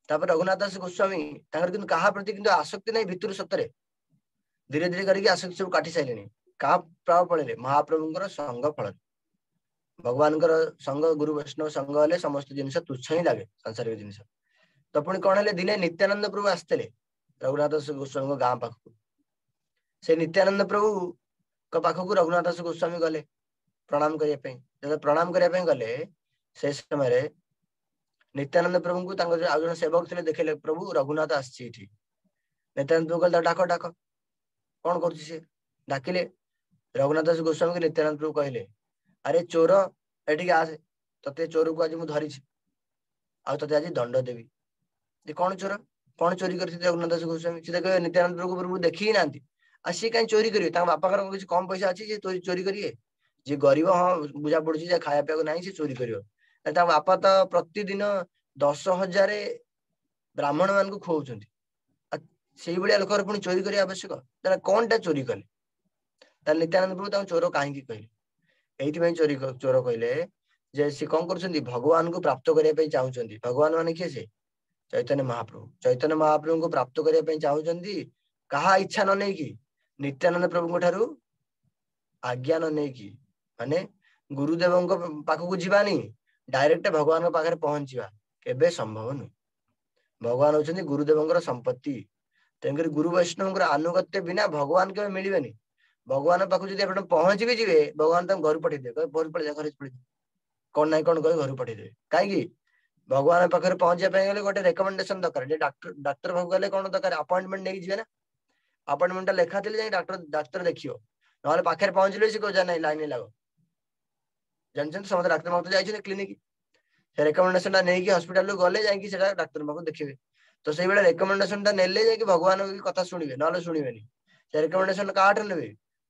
ତାପରେ ରଘୁନାଥ ଦାସ ଗୋସ୍ୱାମୀ ତାଙ୍କର କିନ୍ତୁ କାହା ପ୍ରତି କିନ୍ତୁ ଆସକ୍ତି ନାହିଁ ଭିତରୁ ସତରେ, ଧୀରେ ଧୀରେ କରିକି ଆସକ୍ତି ସବୁ କାଟି ସାରିଲେଣି। କାହା ପ୍ରଭାବ ପଳେଇଲେ ମହାପ୍ରଭୁଙ୍କର ସଙ୍ଗ ଫଳରେ, ଭଗବାନଙ୍କର ସଙ୍ଗ ଗୁରୁ ବୈଷ୍ଣବ ସଙ୍ଗ ହେଲେ ସମସ୍ତ ଜିନିଷ ତୁଚ୍ଛ ହିଁ ଲାଗେ ସାଂସାରିକ ଜିନିଷ। ତ ପୁଣି କଣ ହେଲେ, ଦିନେ ନିତ୍ୟାନନ୍ଦ ପ୍ରଭୁ ଆସିଥିଲେ ରଘୁନାଥ ଦାସ ଗୋସ୍ୱାମୀଙ୍କ ଗାଁ ପାଖକୁ। ସେ ନିତ୍ୟାନନ୍ଦ ପ୍ରଭୁଙ୍କ ପାଖକୁ ରଘୁନାଥ ଦାସ ଗୋସ୍ୱାମୀ ଗଲେ ପ୍ରଣାମ କରିବା ପାଇଁ। ଯେତେବେଳେ ପ୍ରଣାମ କରିବା ପାଇଁ ଗଲେ ସେ ସମୟରେ ନିତ୍ୟାନନ୍ଦ ପ୍ରଭୁଙ୍କୁ ତାଙ୍କ ଯୋଉ ଆଉ ଜଣେ ସେବକ ଥିଲେ ଦେଖିଲେ, ପ୍ରଭୁ ରଘୁନାଥ ଆସିଛି ଏଠି। ନିତ୍ୟାନନ୍ଦ ପ୍ରଭୁ କହିଲେ ଡାକ ଡାକ, କଣ କରୁଛି ସେ? ଡାକିଲେ ରଘୁନାଥ ଦାସ ଗୋସ୍ୱାମୀଙ୍କୁ। ନିତ୍ୟାନନ୍ଦ ପ୍ରଭୁ କହିଲେ ଆରେ ଚୋର ଏଠିକି ଆସେ, ତତେ ଚୋରକୁ ଆଜି ମୁଁ ଧରିଛି ଆଉ ତତେ ଆଜି ଦଣ୍ଡ ଦେବି। ଯେ କଣ ଚୋର, କଣ ଚୋରି କରିଛନ୍ତି ରଘୁନାଥ ଦାସ ଗୋସ୍ୱାମୀ? ସେ କହିବେ ନିତ୍ୟାନନ୍ଦ ପ୍ରଭୁ ପ୍ରଭୁ ଦେଖି ହିଁ ନାହାନ୍ତି, ଆଉ ସିଏ କାହିଁ ଚୋରି କରିବେ? ତାଙ୍କ ବାପାଙ୍କର କିଛି କମ ପଇସା ଅଛି ସେ ଚୋରି କରିବେ? ଯିଏ ଗରିବ ହଁ ବୁଝା ପଡୁଛି ଯେ ଖାଇବା ପିଇବାକୁ ନାହିଁ ସେ ଚୋରି କରିବ। ତାଙ୍କ ବାପା ତ ପ୍ରତିଦିନ 10,000 ବ୍ରାହ୍ମଣ ମାନଙ୍କୁ ଖୁଆଉଛନ୍ତି, ଆଉ ସେଇଭଳିଆ ଲୋକର ପୁଣି ଚୋରି କରିବା ଆବଶ୍ୟକ? ତାହେଲେ କଣଟା ଚୋରି କଲେ? ତାହେଲେ ନିତ୍ୟାନନ୍ଦ ପ୍ରଭୁ ତାଙ୍କୁ ଚୋର କାହିଁକି କହିଲେ? ଏଇଥିପାଇଁ ଚୋର କହିଲେ ଯେ ସେ କଣ କରୁଛନ୍ତି, ଭଗବାନଙ୍କୁ ପ୍ରାପ୍ତ କରିବା ପାଇଁ ଚାହୁଁଛନ୍ତି। ଭଗବାନ ମାନେ କିଏ? ସେ ଚୈତନ୍ୟ ମହାପ୍ରଭୁ। ଚୈତନ୍ୟ ମହାପ୍ରଭୁଙ୍କୁ ପ୍ରାପ୍ତ କରିବା ପାଇଁ ଚାହୁଁଛନ୍ତି କାହା ଇଚ୍ଛା ନ ନେଇକି, ନିତ୍ୟାନନ୍ଦ ପ୍ରଭୁଙ୍କ ଠାରୁ ଆଜ୍ଞା ନ ନେଇକି, ମାନେ ଗୁରୁଦେବଙ୍କ ପାଖକୁ ଯିବାନି, ଡାଇରେକ୍ଟ ଭଗବାନଙ୍କ ପାଖରେ ପହଞ୍ଚିବା କେବେ ସମ୍ଭବ ନୁହେଁ। ଭଗବାନ ହଉଛନ୍ତି ଗୁରୁଦେବଙ୍କର ସମ୍ପତ୍ତି, ତେଣୁକରି ଗୁରୁ ବୈଷ୍ଣବଙ୍କର ଆନୁଗତ୍ୟ ବିନା ଭଗବାନ କେବେ ମିଳିବେନି। ଭଗବାନଙ୍କ ପାଖକୁ ଯଦି ଆପଣ ପହଞ୍ଚି ବି ଯିବେ, ଭଗବାନ ତାଙ୍କୁ ଘରୁ ପଠେଇଦେବେ, କହିବେ ଘରୁ ପଳେଇ ଯା, ଘରେ ପଳେଇ ଯା, କଣ ନାଇଁ କଣ କହି ଘରୁ ପଠେଇଦେବେ। କାହିଁକି? ଭଗବାନଙ୍କ ପାଖରେ ପହଞ୍ଚିବା ପାଇଁ ଗଲେ ଗୋଟେ ରେକମେଣ୍ଡେସନ ଦରକାର। ଯେ ଡାକ୍ତର ପାଖକୁ ଗଲେ କଣ ଦରକାର? ଆପଏଣ୍ଟମେଣ୍ଟ ନେଇକି ଯିବେ ନା, ଆପଏଣ୍ଟମେଣ୍ଟ ଟା ଲେଖା ଥିଲେ ଯାଇ ଡାକ୍ତର ଦେଖିବ, ନହେଲେ ପାଖରେ ପହଞ୍ଚିଲେ ସେ କହିବ ନାଇଁ ଲାଇନରେ ଲାଗ। ଜାଣିଛନ୍ତି ସମସ୍ତେ ଡାକ୍ତର ପାଖକୁ ଯାଇଛନ୍ତି କ୍ଲିନିକ, ସେ ରେକମେଣ୍ଡେସନ ଟା ନେଇକି ହସ୍ପିଟାଲରୁ ଗଲେ ଯାଇକି ସେଟା ଡାକ୍ତର ପାଖକୁ ଦେଖିବେ। ତ ସେଇଭଳିଆ ରେକମେଣ୍ଡେସନ ଟା ନେଲେ ଯାଇକି ଭଗବାନଙ୍କ କଥା ଶୁଣିବେ, ନହେଲେ ଶୁଣିବେନି। ସେ ରେକମେଣ୍ଡେସନ କାହାଠୁ ନେବେ?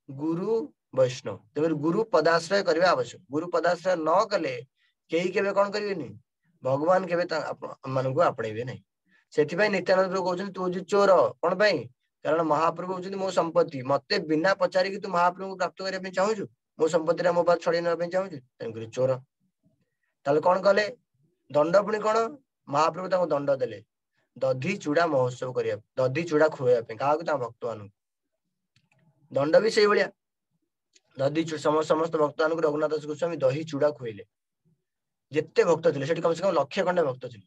ଗୁରୁ ବୈଷ୍ଣବ। ତେଣୁ ଗୁରୁ ପଦାଶ୍ରୟ କରିବା ଆବଶ୍ୟକ। ଗୁରୁ ପଦାଶ୍ରୟ ନ କଲେ କେହି କେବେ କଣ କରିବେନି, ଭଗବାନ କେବେ ଆମମାନଙ୍କୁ ଆପଣେଇବେ ନାହିଁ। ସେଥିପାଇଁ ନିତ୍ୟାନନ୍ଦ ପ୍ରଭୁ କହୁଛନ୍ତି ତୁ ହଉଛୁ ଚୋର। କଣ ପାଇଁ? କାରଣ ମହାପ୍ରଭୁ ହଉଛନ୍ତି ମୋ ସମ୍ପତ୍ତି, ମତେ ବିନା ପଚାରିକି ତୁ ମହାପ୍ରଭୁଙ୍କୁ ପ୍ରାପ୍ତ କରିବା ପାଇଁ ଚାହୁଁଛୁ, ମୋ ସମ୍ପତ୍ତିଟା ମୋ ପାଖରୁ ଛଡେଇ ନେବା ପାଇଁ ଚାହୁଁଛୁ, ତେଣୁକରି ଚୋର। ତାହେଲେ କଣ କଲେ? ଦଣ୍ଡ ପୁଣି କଣ? ମହାପ୍ରଭୁ ତାଙ୍କୁ ଦଣ୍ଡ ଦେଲେ ଦଧି ଚୂଡା ମହୋତ୍ସବ କରିବା, ଦଧି ଚୂଡା ଖୁଆଇବା ପାଇଁ। କାହାକୁ? ତାଙ୍କ ଭକ୍ତମାନଙ୍କୁ। ଦଣ୍ଡ ବି ସେଇଭଳିଆ, ଦଧି ସମସ୍ତ ଭକ୍ତମାନଙ୍କୁ ରଘୁନାଥ ଦାସ ଗୋସ୍ୱାମୀ ଦହି ଚୂଡା ଖୁଆଇଲେ। ଯେତେ ଭକ୍ତ ଥିଲେ ସେଠି କମ ସେ କମ ଲକ୍ଷେ ଖଣ୍ଡେ ଭକ୍ତ ଥିଲେ,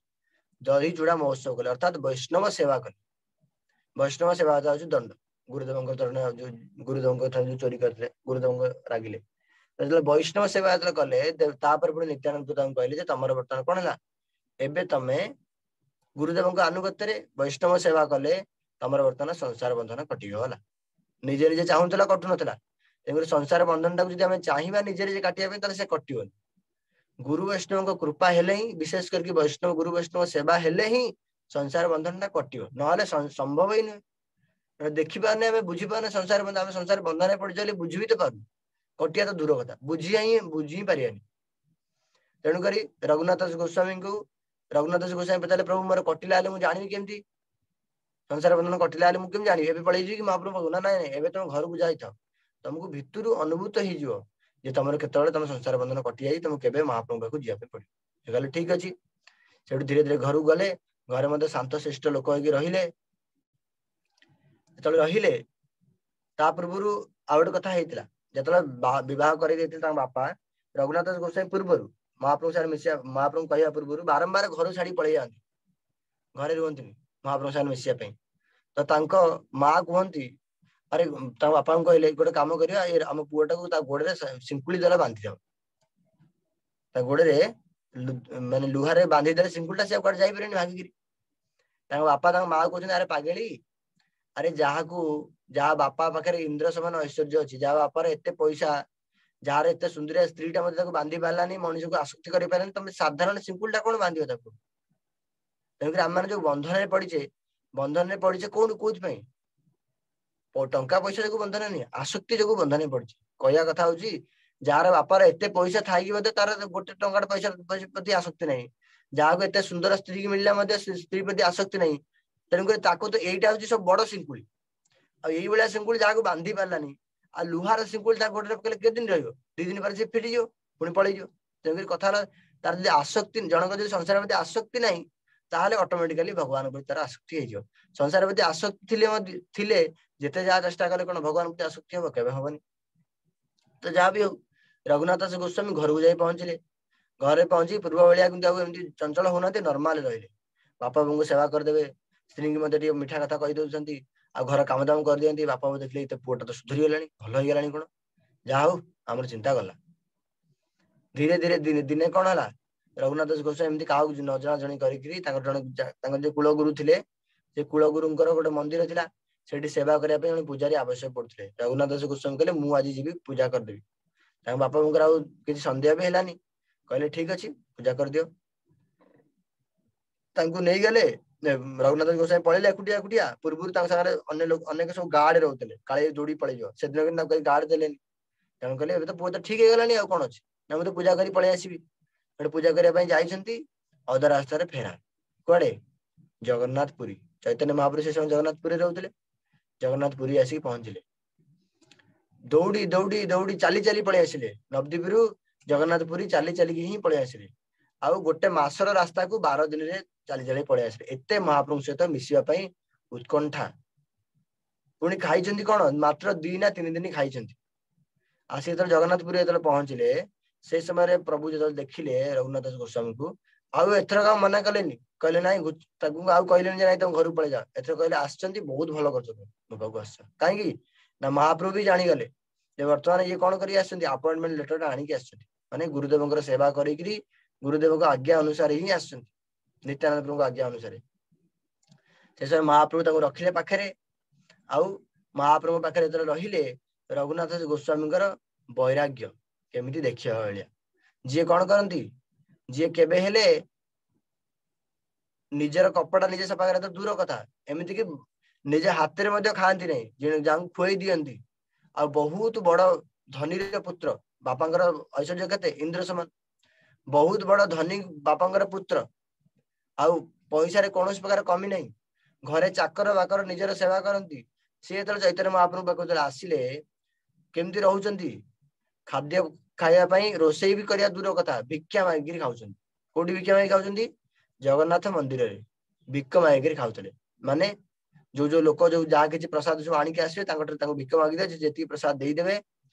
ଦହି ଚୂଡା ମହୋତ୍ସବ କଲେ, ଅର୍ଥାତ ବୈଷ୍ଣବ ସେବା କଲେ। ବୈଷ୍ଣବ ସେବା ହଉଛି ଦଣ୍ଡ। ଗୁରୁଦେବଙ୍କ ଚରଣ ଯୋଉ ଗୁରୁଦେବଙ୍କ ଠାରୁ ଯୋଉ ଚୋରି କରିଥିଲେ, ଗୁରୁଦେବଙ୍କ ରାଗିଲେ, ଯେତେବେଳେ ବୈଷ୍ଣବ ସେବା ଯେତେବେଳେ କଲେ, ତାପରେ ପୁଣି ନିତ୍ୟାନନ୍ଦ ତାଙ୍କୁ କହିଲେ ଯେ ତମର ବର୍ତ୍ତମାନ କଣ ହେଲା, ଏବେ ତମେ ଗୁରୁଦେବଙ୍କ ଆନୁଗତ୍ୟରେ ବୈଷ୍ଣବ ସେବା କଲେ ତମର ବର୍ତ୍ତମାନ ସଂସାର ବନ୍ଧନ କଟିଗଲା। ନିଜେ ନିଜେ ଚାହୁଁଥିଲା, କଟୁନଥିଲା। ତେଣୁକରି ସଂସାର ବନ୍ଧନ ଟାକୁ ଯଦି ଆମେ ଚାହିଁବା ନିଜେ ନିଜେ କାଟିବା ପାଇଁ, ତାହେଲେ ସେ କଟିବନି। ଗୁରୁ ବୈଷ୍ଣବଙ୍କ କୃପା ହେଲେ ହିଁ, ବିଶେଷ କରିକି ବୈଷ୍ଣବ ଗୁରୁ ବୈଷ୍ଣବ ସେବା ହେଲେ ହିଁ ସଂସାର ବନ୍ଧନ ଟା କଟିବ, ନହେଲେ ସମ୍ଭବ ହିଁ ନୁହେଁ। ଦେଖିପାରୁନେ ଆମେ, ବୁଝିପାରୁନେ ସଂସାର ବନ୍ଧନ, ଆମେ ସଂସାର ବନ୍ଧନରେ ପଡିଛୁ ବୋଲି ବୁଝି ବି ତ ପାରୁନୁ, କଟିବା ତ ଦୂର କଥା, ବୁଝି ହିଁ ପାରିବାନି। ତେଣୁକରି ରଘୁନାଥ ଦାସ ଗୋସ୍ୱାମୀଙ୍କୁ ରଘୁନାଥ ଦାସ ଗୋସ୍ୱାମୀ ପଚାରିଲେ, ପ୍ରଭୁ ମୋର କଟିଲା ହେଲେ ମୁଁ ଜାଣିବି କେମିତି? ସଂସାର ବନ୍ଧନ କଟିଲା ହେଲେ ମୁଁ କେମିତି ଜାଣିବି? ଏବେ ପଳେଇ ଯିବି କି ମହାପ୍ରଭୁ ପାଖକୁ? ନା, ନାଇଁ, ନାଇଁ, ଏବେ ତମ ଘରକୁ ଯାଇଥାଅ, ତମକୁ ଭିତରୁ ଅନୁଭୂତ ହେଇଯିବ ଯେ ତମର କେତେବେଳେ ତମ ସଂସାର ବନ୍ଧନ କଟି ଯାଇଛି, ତମକୁ କେବେ ମହାପ୍ରଭୁଙ୍କ ପାଖକୁ ଯିବା ପାଇଁ ପଡିବ। ସେ କହିଲେ ଠିକ ଅଛି। ସେଠୁ ଧୀରେ ଧୀରେ ଘରକୁ ଗଲେ, ଘରେ ମଧ୍ୟ ଶାନ୍ତଶିଷ୍ଟ ଲୋକ ହେଇକି ରହିଲେ। ଯେତେବେଳେ ରହିଲେ ତା ପୂର୍ବରୁ ଆଉ ଗୋଟେ କଥା ହେଇଥିଲା, ଯେତେବେଳେ ବିବାହ କରିଦେଇଥିଲେ ତାଙ୍କ ବାପା ରଘୁନାଥ ଦାସ ଗୋସ୍ୱାମୀ ପୂର୍ବରୁ ମହାପ୍ରଭୁ ସାଙ୍ଗରେ ମିଶିବା, ମହାପ୍ରଭୁଙ୍କୁ କହିବା ପୂର୍ବରୁ ବାରମ୍ବାର ଘରୁ ଛାଡି ପଳେଇ ଯାଆନ୍ତି, ଘରେ ରୁହନ୍ତିନି ମହାପ୍ରଭୁ ସାଙ୍ଗରେ ମିଶିବା ପାଇଁ। ତ ତାଙ୍କ ମା କୁହନ୍ତି, ଆରେ ତାଙ୍କ ବାପାଙ୍କୁ କହିଲେ ଗୋଟେ କାମ କରିବା, ଏ ଆମ ପୁଅଟାକୁ ତା ଗୋଡରେ ଶିଙ୍କୁଳି ଦ୍ୱାରା ବାନ୍ଧିଦବ, ତା ଗୋଡରେ ମାନେ ଲୁହାରେ ବାନ୍ଧିଦେଲେ ଶିଙ୍କୁଳିଟା ସେ କୁଆଡେ ଯାଇପାରିବନି ଭାଙ୍ଗିକିରି। ତାଙ୍କ ବାପା ତାଙ୍କ ମା କହୁଛନ୍ତି, ଆରେ ପାଗେଳି, ଆରେ ଯାହାକୁ ଯାହା ବାପା ପାଖରେ ଇନ୍ଦ୍ର ସମାନ ଐଶ୍ୱର୍ଯ୍ୟ ଅଛି, ଯାହା ବାପାର ଏତେ ପଇସା, ଯାହାର ଏତେ ସୁନ୍ଦରିଆ ସ୍ତ୍ରୀଟା ମଧ୍ୟ ତାକୁ ବାନ୍ଧି ପାରିଲାନି, ମଣିଷକୁ ଆସକ୍ତି କରିପାରିଲାନି, ତମେ ସାଧାରଣ ଶିଙ୍କୁଳିଟା କଣ ବାନ୍ଧିବ ତାକୁ? ତେଣୁକରି ଆମମାନେ ଯୋଉ ବନ୍ଧନରେ ପଡିଛେ, ବନ୍ଧନରେ ପଡିଛେ କୋଉଠୁ କୋଉଥିପାଇଁ? ଟଙ୍କା ପଇସା ଯୋଗୁ ବନ୍ଧନ ନୁହେଁ, ଆସକ୍ତି ଯୋଗୁ ବନ୍ଧନରେ ପଡିଛେ। କହିବା କଥା ହଉଛି ଯାହାର ବାପାର ଏତେ ପଇସା ଥାଇକି ମଧ୍ୟ ତାର ଗୋଟେ ଟଙ୍କାର ପଇସା ପ୍ରତି ଆସକ୍ତି ନାହିଁ, ଯାହାକୁ ଏତେ ସୁନ୍ଦର ସ୍ତ୍ରୀ ମିଳିଲା ମଧ୍ୟ ସ୍ତ୍ରୀ ପ୍ରତି ଆସକ୍ତି ନାହିଁ, ତେଣୁକରି ତାକୁ ତ ଏଇଟା ହଉଛି ସବୁ ବଡ ଶିଙ୍କୁଳି। ଆଉ ଏଇଭଳିଆ ଶିଙ୍କୁଳି ଯାହାକୁ ବାନ୍ଧି ପାରିଲାନି, ଆଉ ଲୁହାର ଶିଙ୍କୁଳି ତାକୁ ଗୋଡରେ ପକେଇଲେ କେତେ ଦିନ ରହିବ? 2 ଦିନ ପରେ ସେ ଫିଟିଯିବ, ପୁଣି ପଳେଇଯିବ। ତେଣୁକରି କଥା ହେଲା ତାର ଯଦି ଆସକ୍ତି, ଜଣଙ୍କ ଯଦି ସଂସାର ପ୍ରତି ଆସକ୍ତି ନାହିଁ, ତାହେଲେ ଅଟୋମେଟିକାଲି ଭଗବାନ ପ୍ରତି ତାର ଆସକ୍ତି ହେଇଯିବ। ସଂସାର ପ୍ରତି ଆସକ୍ତି ଥିଲେ ମଧ୍ୟ, ଥିଲେ ଯେତେ ଯାହା ଚେଷ୍ଟା କଲେ କଣ ଭଗବାନ ପ୍ରତି ଆସକ୍ତି ହବ? କେବେ ହବନି। ତ ଯାହା ବି ହଉ, ରଘୁନାଥ ଦାସ ଗୋସ୍ୱାମୀ ଘରକୁ ଯାଇ ପହଞ୍ଚିଲେ। ଘରେ ପହଞ୍ଚି ପୂର୍ବ ଭଳିଆ କିନ୍ତୁ ଆଉ ଏମିତି ଚଞ୍ଚଳ ହଉନାହାନ୍ତି, ନର୍ମାଲ ରହିଲେ। ବାପା ବୋଉଙ୍କୁ ସେବା କରିଦେବେ, ସ୍ତ୍ରୀଙ୍କୁ ମଧ୍ୟ ଟିକେ ମିଠା କଥା କହିଦଉଛନ୍ତି, ଆଉ ଘର କାମ ଦାମ କରିଦିଅନ୍ତି। ବାପା ବୋଉ ଦେଖିଲେ ଏତେ ପୁଅଟା ତ ସୁଧୁରିଗଲାଣି, ଭଲ ହେଇଗଲାଣି କଣ, ଯାହା ହଉ ଆମର ଚିନ୍ତା ଗଲା। ଧୀରେ ଧୀରେ ଦିନେ କଣ ହେଲା, ରଘୁନାଥ ଦାସ ଗୋସ୍ୱାମୀ ଏମିତି କାହାକୁ ନ ଜଣାଜଣି କରିକିରି ତାଙ୍କର ଜଣେ ତାଙ୍କର ଯୋଉ କୁଳଗୁରୁ ଥିଲେ, ସେ କୁଳଗୁରୁଙ୍କର ଗୋଟେ ମନ୍ଦିର ଥିଲା, ସେଠି ସେବା କରିବା ପାଇଁ ଜଣେ ପୂଜାରୀ ଆବଶ୍ୟକ ପଡୁଥିଲେ। ରଘୁନାଥ ଦାସ ଗୋସ୍ୱାମୀ କହିଲେ ମୁଁ ଆଜି ଯିବି ପୂଜା କରିଦେବି। ତାଙ୍କ ବାପା ବୋଉଙ୍କର ଆଉ କିଛି ସନ୍ଦେହ ବି ହେଲାନି, କହିଲେ ଠିକ ଅଛି ପୂଜା କରିଦିଅ। ତାଙ୍କୁ ନେଇଗଲେ, ରଘୁନାଥ ଦାସ ଗୋସ୍ୱାମୀ ପଳେଇଲେ ଏକୁଟିଆ ଏକୁଟିଆ। ପୂର୍ବରୁ ତାଙ୍କ ସାଙ୍ଗରେ ଅନ୍ୟ ଲୋକ ଅନେକ ସବୁ ଗାର୍ଡ ରହୁଥିଲେ, କାଳେ ଦୌଡ଼ି ପଳେଇଯିବ। ସେଦିନ କିନ୍ତୁ ତାଙ୍କୁ କେହି ଗାର୍ଡ ଦେଲେନି। ତେଣୁ କହିଲେ ଏବେ ତ ପୁଅ ତ ଠିକ ହେଇଗଲାଣି, ଆଉ କଣ ଅଛି, ନା ମୁଁ ତ ପୂଜା କରି ପଳେଇ ଆସିବି। ସେଠୁ ପୂଜା କରିବା ପାଇଁ ଯାଇଛନ୍ତି, ଅଧା ରାସ୍ତାରେ ଫେରାର, କୁଆଡେ? ଜଗନ୍ନାଥ ପୁରୀ। ଚୈତନ୍ୟ ମହାପ୍ରଭୁ ସେ ସମୟ ଜଗନ୍ନାଥ ପୁରୀରେ ରହୁଥିଲେ। ଜଗନ୍ନାଥ ପୁରୀ ଆସିକି ପହଞ୍ଚିଲେ, ଦୌଡ଼ି ଦୌଡ଼ି ଦୌଡ଼ି ଚାଲି ଚାଲି ପଳେଇ ଆସିଲେ। ନବଦ୍ୱୀପରୁ ଜଗନ୍ନାଥ ପୁରୀ ଚାଲି ଚାଲିକି ହିଁ ପଳେଇ ଆସିଲେ। ଆଉ ଗୋଟେ ମାସର ରାସ୍ତାକୁ 12 ଦିନରେ ଚାଲି ଚାଲି ପଳେଇ ଆସିଲେ। ଏତେ ମହାପ୍ରଭୁଙ୍କ ସହିତ ମିଶିବା ପାଇଁ ଉତ୍କଣ୍ଠା। ପୁଣି ଖାଇଛନ୍ତି କଣ, ମାତ୍ର 2 ନା 3 ଦିନ ଖାଇଛନ୍ତି। ଆସି ଯେତେବେଳେ ଜଗନ୍ନାଥ ପୁରୀ ଯେତେବେଳେ ପହଞ୍ଚିଲେ, ସେଇ ସମୟରେ ପ୍ରଭୁ ଯେତେବେଳେ ଦେଖିଲେ ରଘୁନାଥ ଦାସ ଗୋସ୍ୱାମୀଙ୍କୁ, ଆଉ ଏଥରକ ଆଉ ମନା କଲେନି, କହିଲେ ନାଇଁ, ତାକୁ ଆଉ କହିଲେନି ଯେ ନାଇଁ ତମ ଘରକୁ ପଳେଇ ଯାଅ। ଏଥର କହିଲେ ଆସିଛନ୍ତି ବହୁତ ଭଲ କରୁଛ ତମେ, ମୋ ପାଖକୁ ଆସିଛ। କାହିଁକି ନା ମହାପ୍ରଭୁ ବି ଜାଣିଗଲେ ଯେ ବର୍ତ୍ତମାନ ଇଏ କଣ କରିକି ଆସିଛନ୍ତି, ଆପଏଣ୍ଟମେଣ୍ଟ ଲେଟର ଟା ଆଣିକି ଆସିଛନ୍ତି, ମାନେ ଗୁରୁଦେବଙ୍କର ସେବା କରିକିରି ଗୁରୁଦେବଙ୍କ ଆଜ୍ଞା ଅନୁସାରେ ହିଁ ଆସିଛନ୍ତି, ନିତ୍ୟାନନ୍ଦ ପ୍ରଭୁଙ୍କ ଆଜ୍ଞା ଅନୁସାରେ। ସେ ସମୟ ମହାପ୍ରଭୁ ତାଙ୍କୁ ରଖିଲେ ପାଖରେ। ଆଉ ମହାପ୍ରଭୁଙ୍କ ପାଖରେ ଯେତେବେଳେ ରହିଲେ, ରଘୁନାଥ ଗୋସ୍ୱାମୀଙ୍କର ବୈରାଗ୍ୟ କେମିତି ଦେଖିବା ଭଳିଆ। ଯିଏ କଣ କରନ୍ତି, ଯିଏ କେବେ ହେଲେ ନିଜର କପଡ଼ା ନିଜେ ସଫା କରିବା ତ ଦୂର କଥା, ଏମିତିକି ନିଜ ହାତରେ ମଧ୍ୟ ଖାଆନ୍ତି ନାହିଁ, ଯାହାଙ୍କୁ ଖୁଆଇ ଦିଅନ୍ତି। ଆଉ ବହୁତ ବଡ ଧନୀର ପୁତ୍ର, ବାପାଙ୍କର ଐଶ୍ୱର୍ଯ୍ୟ କେତେ, ଇନ୍ଦ୍ର ସମାନ, ବହୁତ ବଡ ଧନୀ ବାପାଙ୍କର ପୁତ୍ର, ଆଉ ପଇସାରେ କୌଣସି ପ୍ରକାର କମି ନାହିଁ, ଘରେ ଚାକର ବାକର ନିଜର ସେବା କରନ୍ତି। ସିଏ ଯେତେବେଳେ ଚୈତନ୍ୟ ମହାପ୍ରଭୁ ପାଖକୁ ଯେତେବେଳେ ଆସିଲେ, କେମିତି ରହୁଛନ୍ତି, ଖାଦ୍ୟ ଖାଇବା ପାଇଁ ରୋଷେଇ ବି କରିବା ଦୂର କଥା, ଭିକ୍ଷା ମାଗିକିରି ଖାଉଛନ୍ତି। କୋଉଠି ଭିକ୍ଷା ମାଗି ଖାଉଛନ୍ତି? ଜଗନ୍ନାଥ ମନ୍ଦିରରେ ଭିକ ମାଗିକିରି ଖାଉଥିଲେ। ମାନେ ଯୋଉ ଯୋଉ ଲୋକ ଯୋଉ ଯାହା କିଛି ପ୍ରସାଦ ସବୁ ଆଣିକି ଆସିବେ, ତାଙ୍କଠାରୁ ତାଙ୍କୁ ଭିକ ମାଗିଦେବେ, ଯେତିକି ପ୍ରସାଦ ଦେଇଦେବେ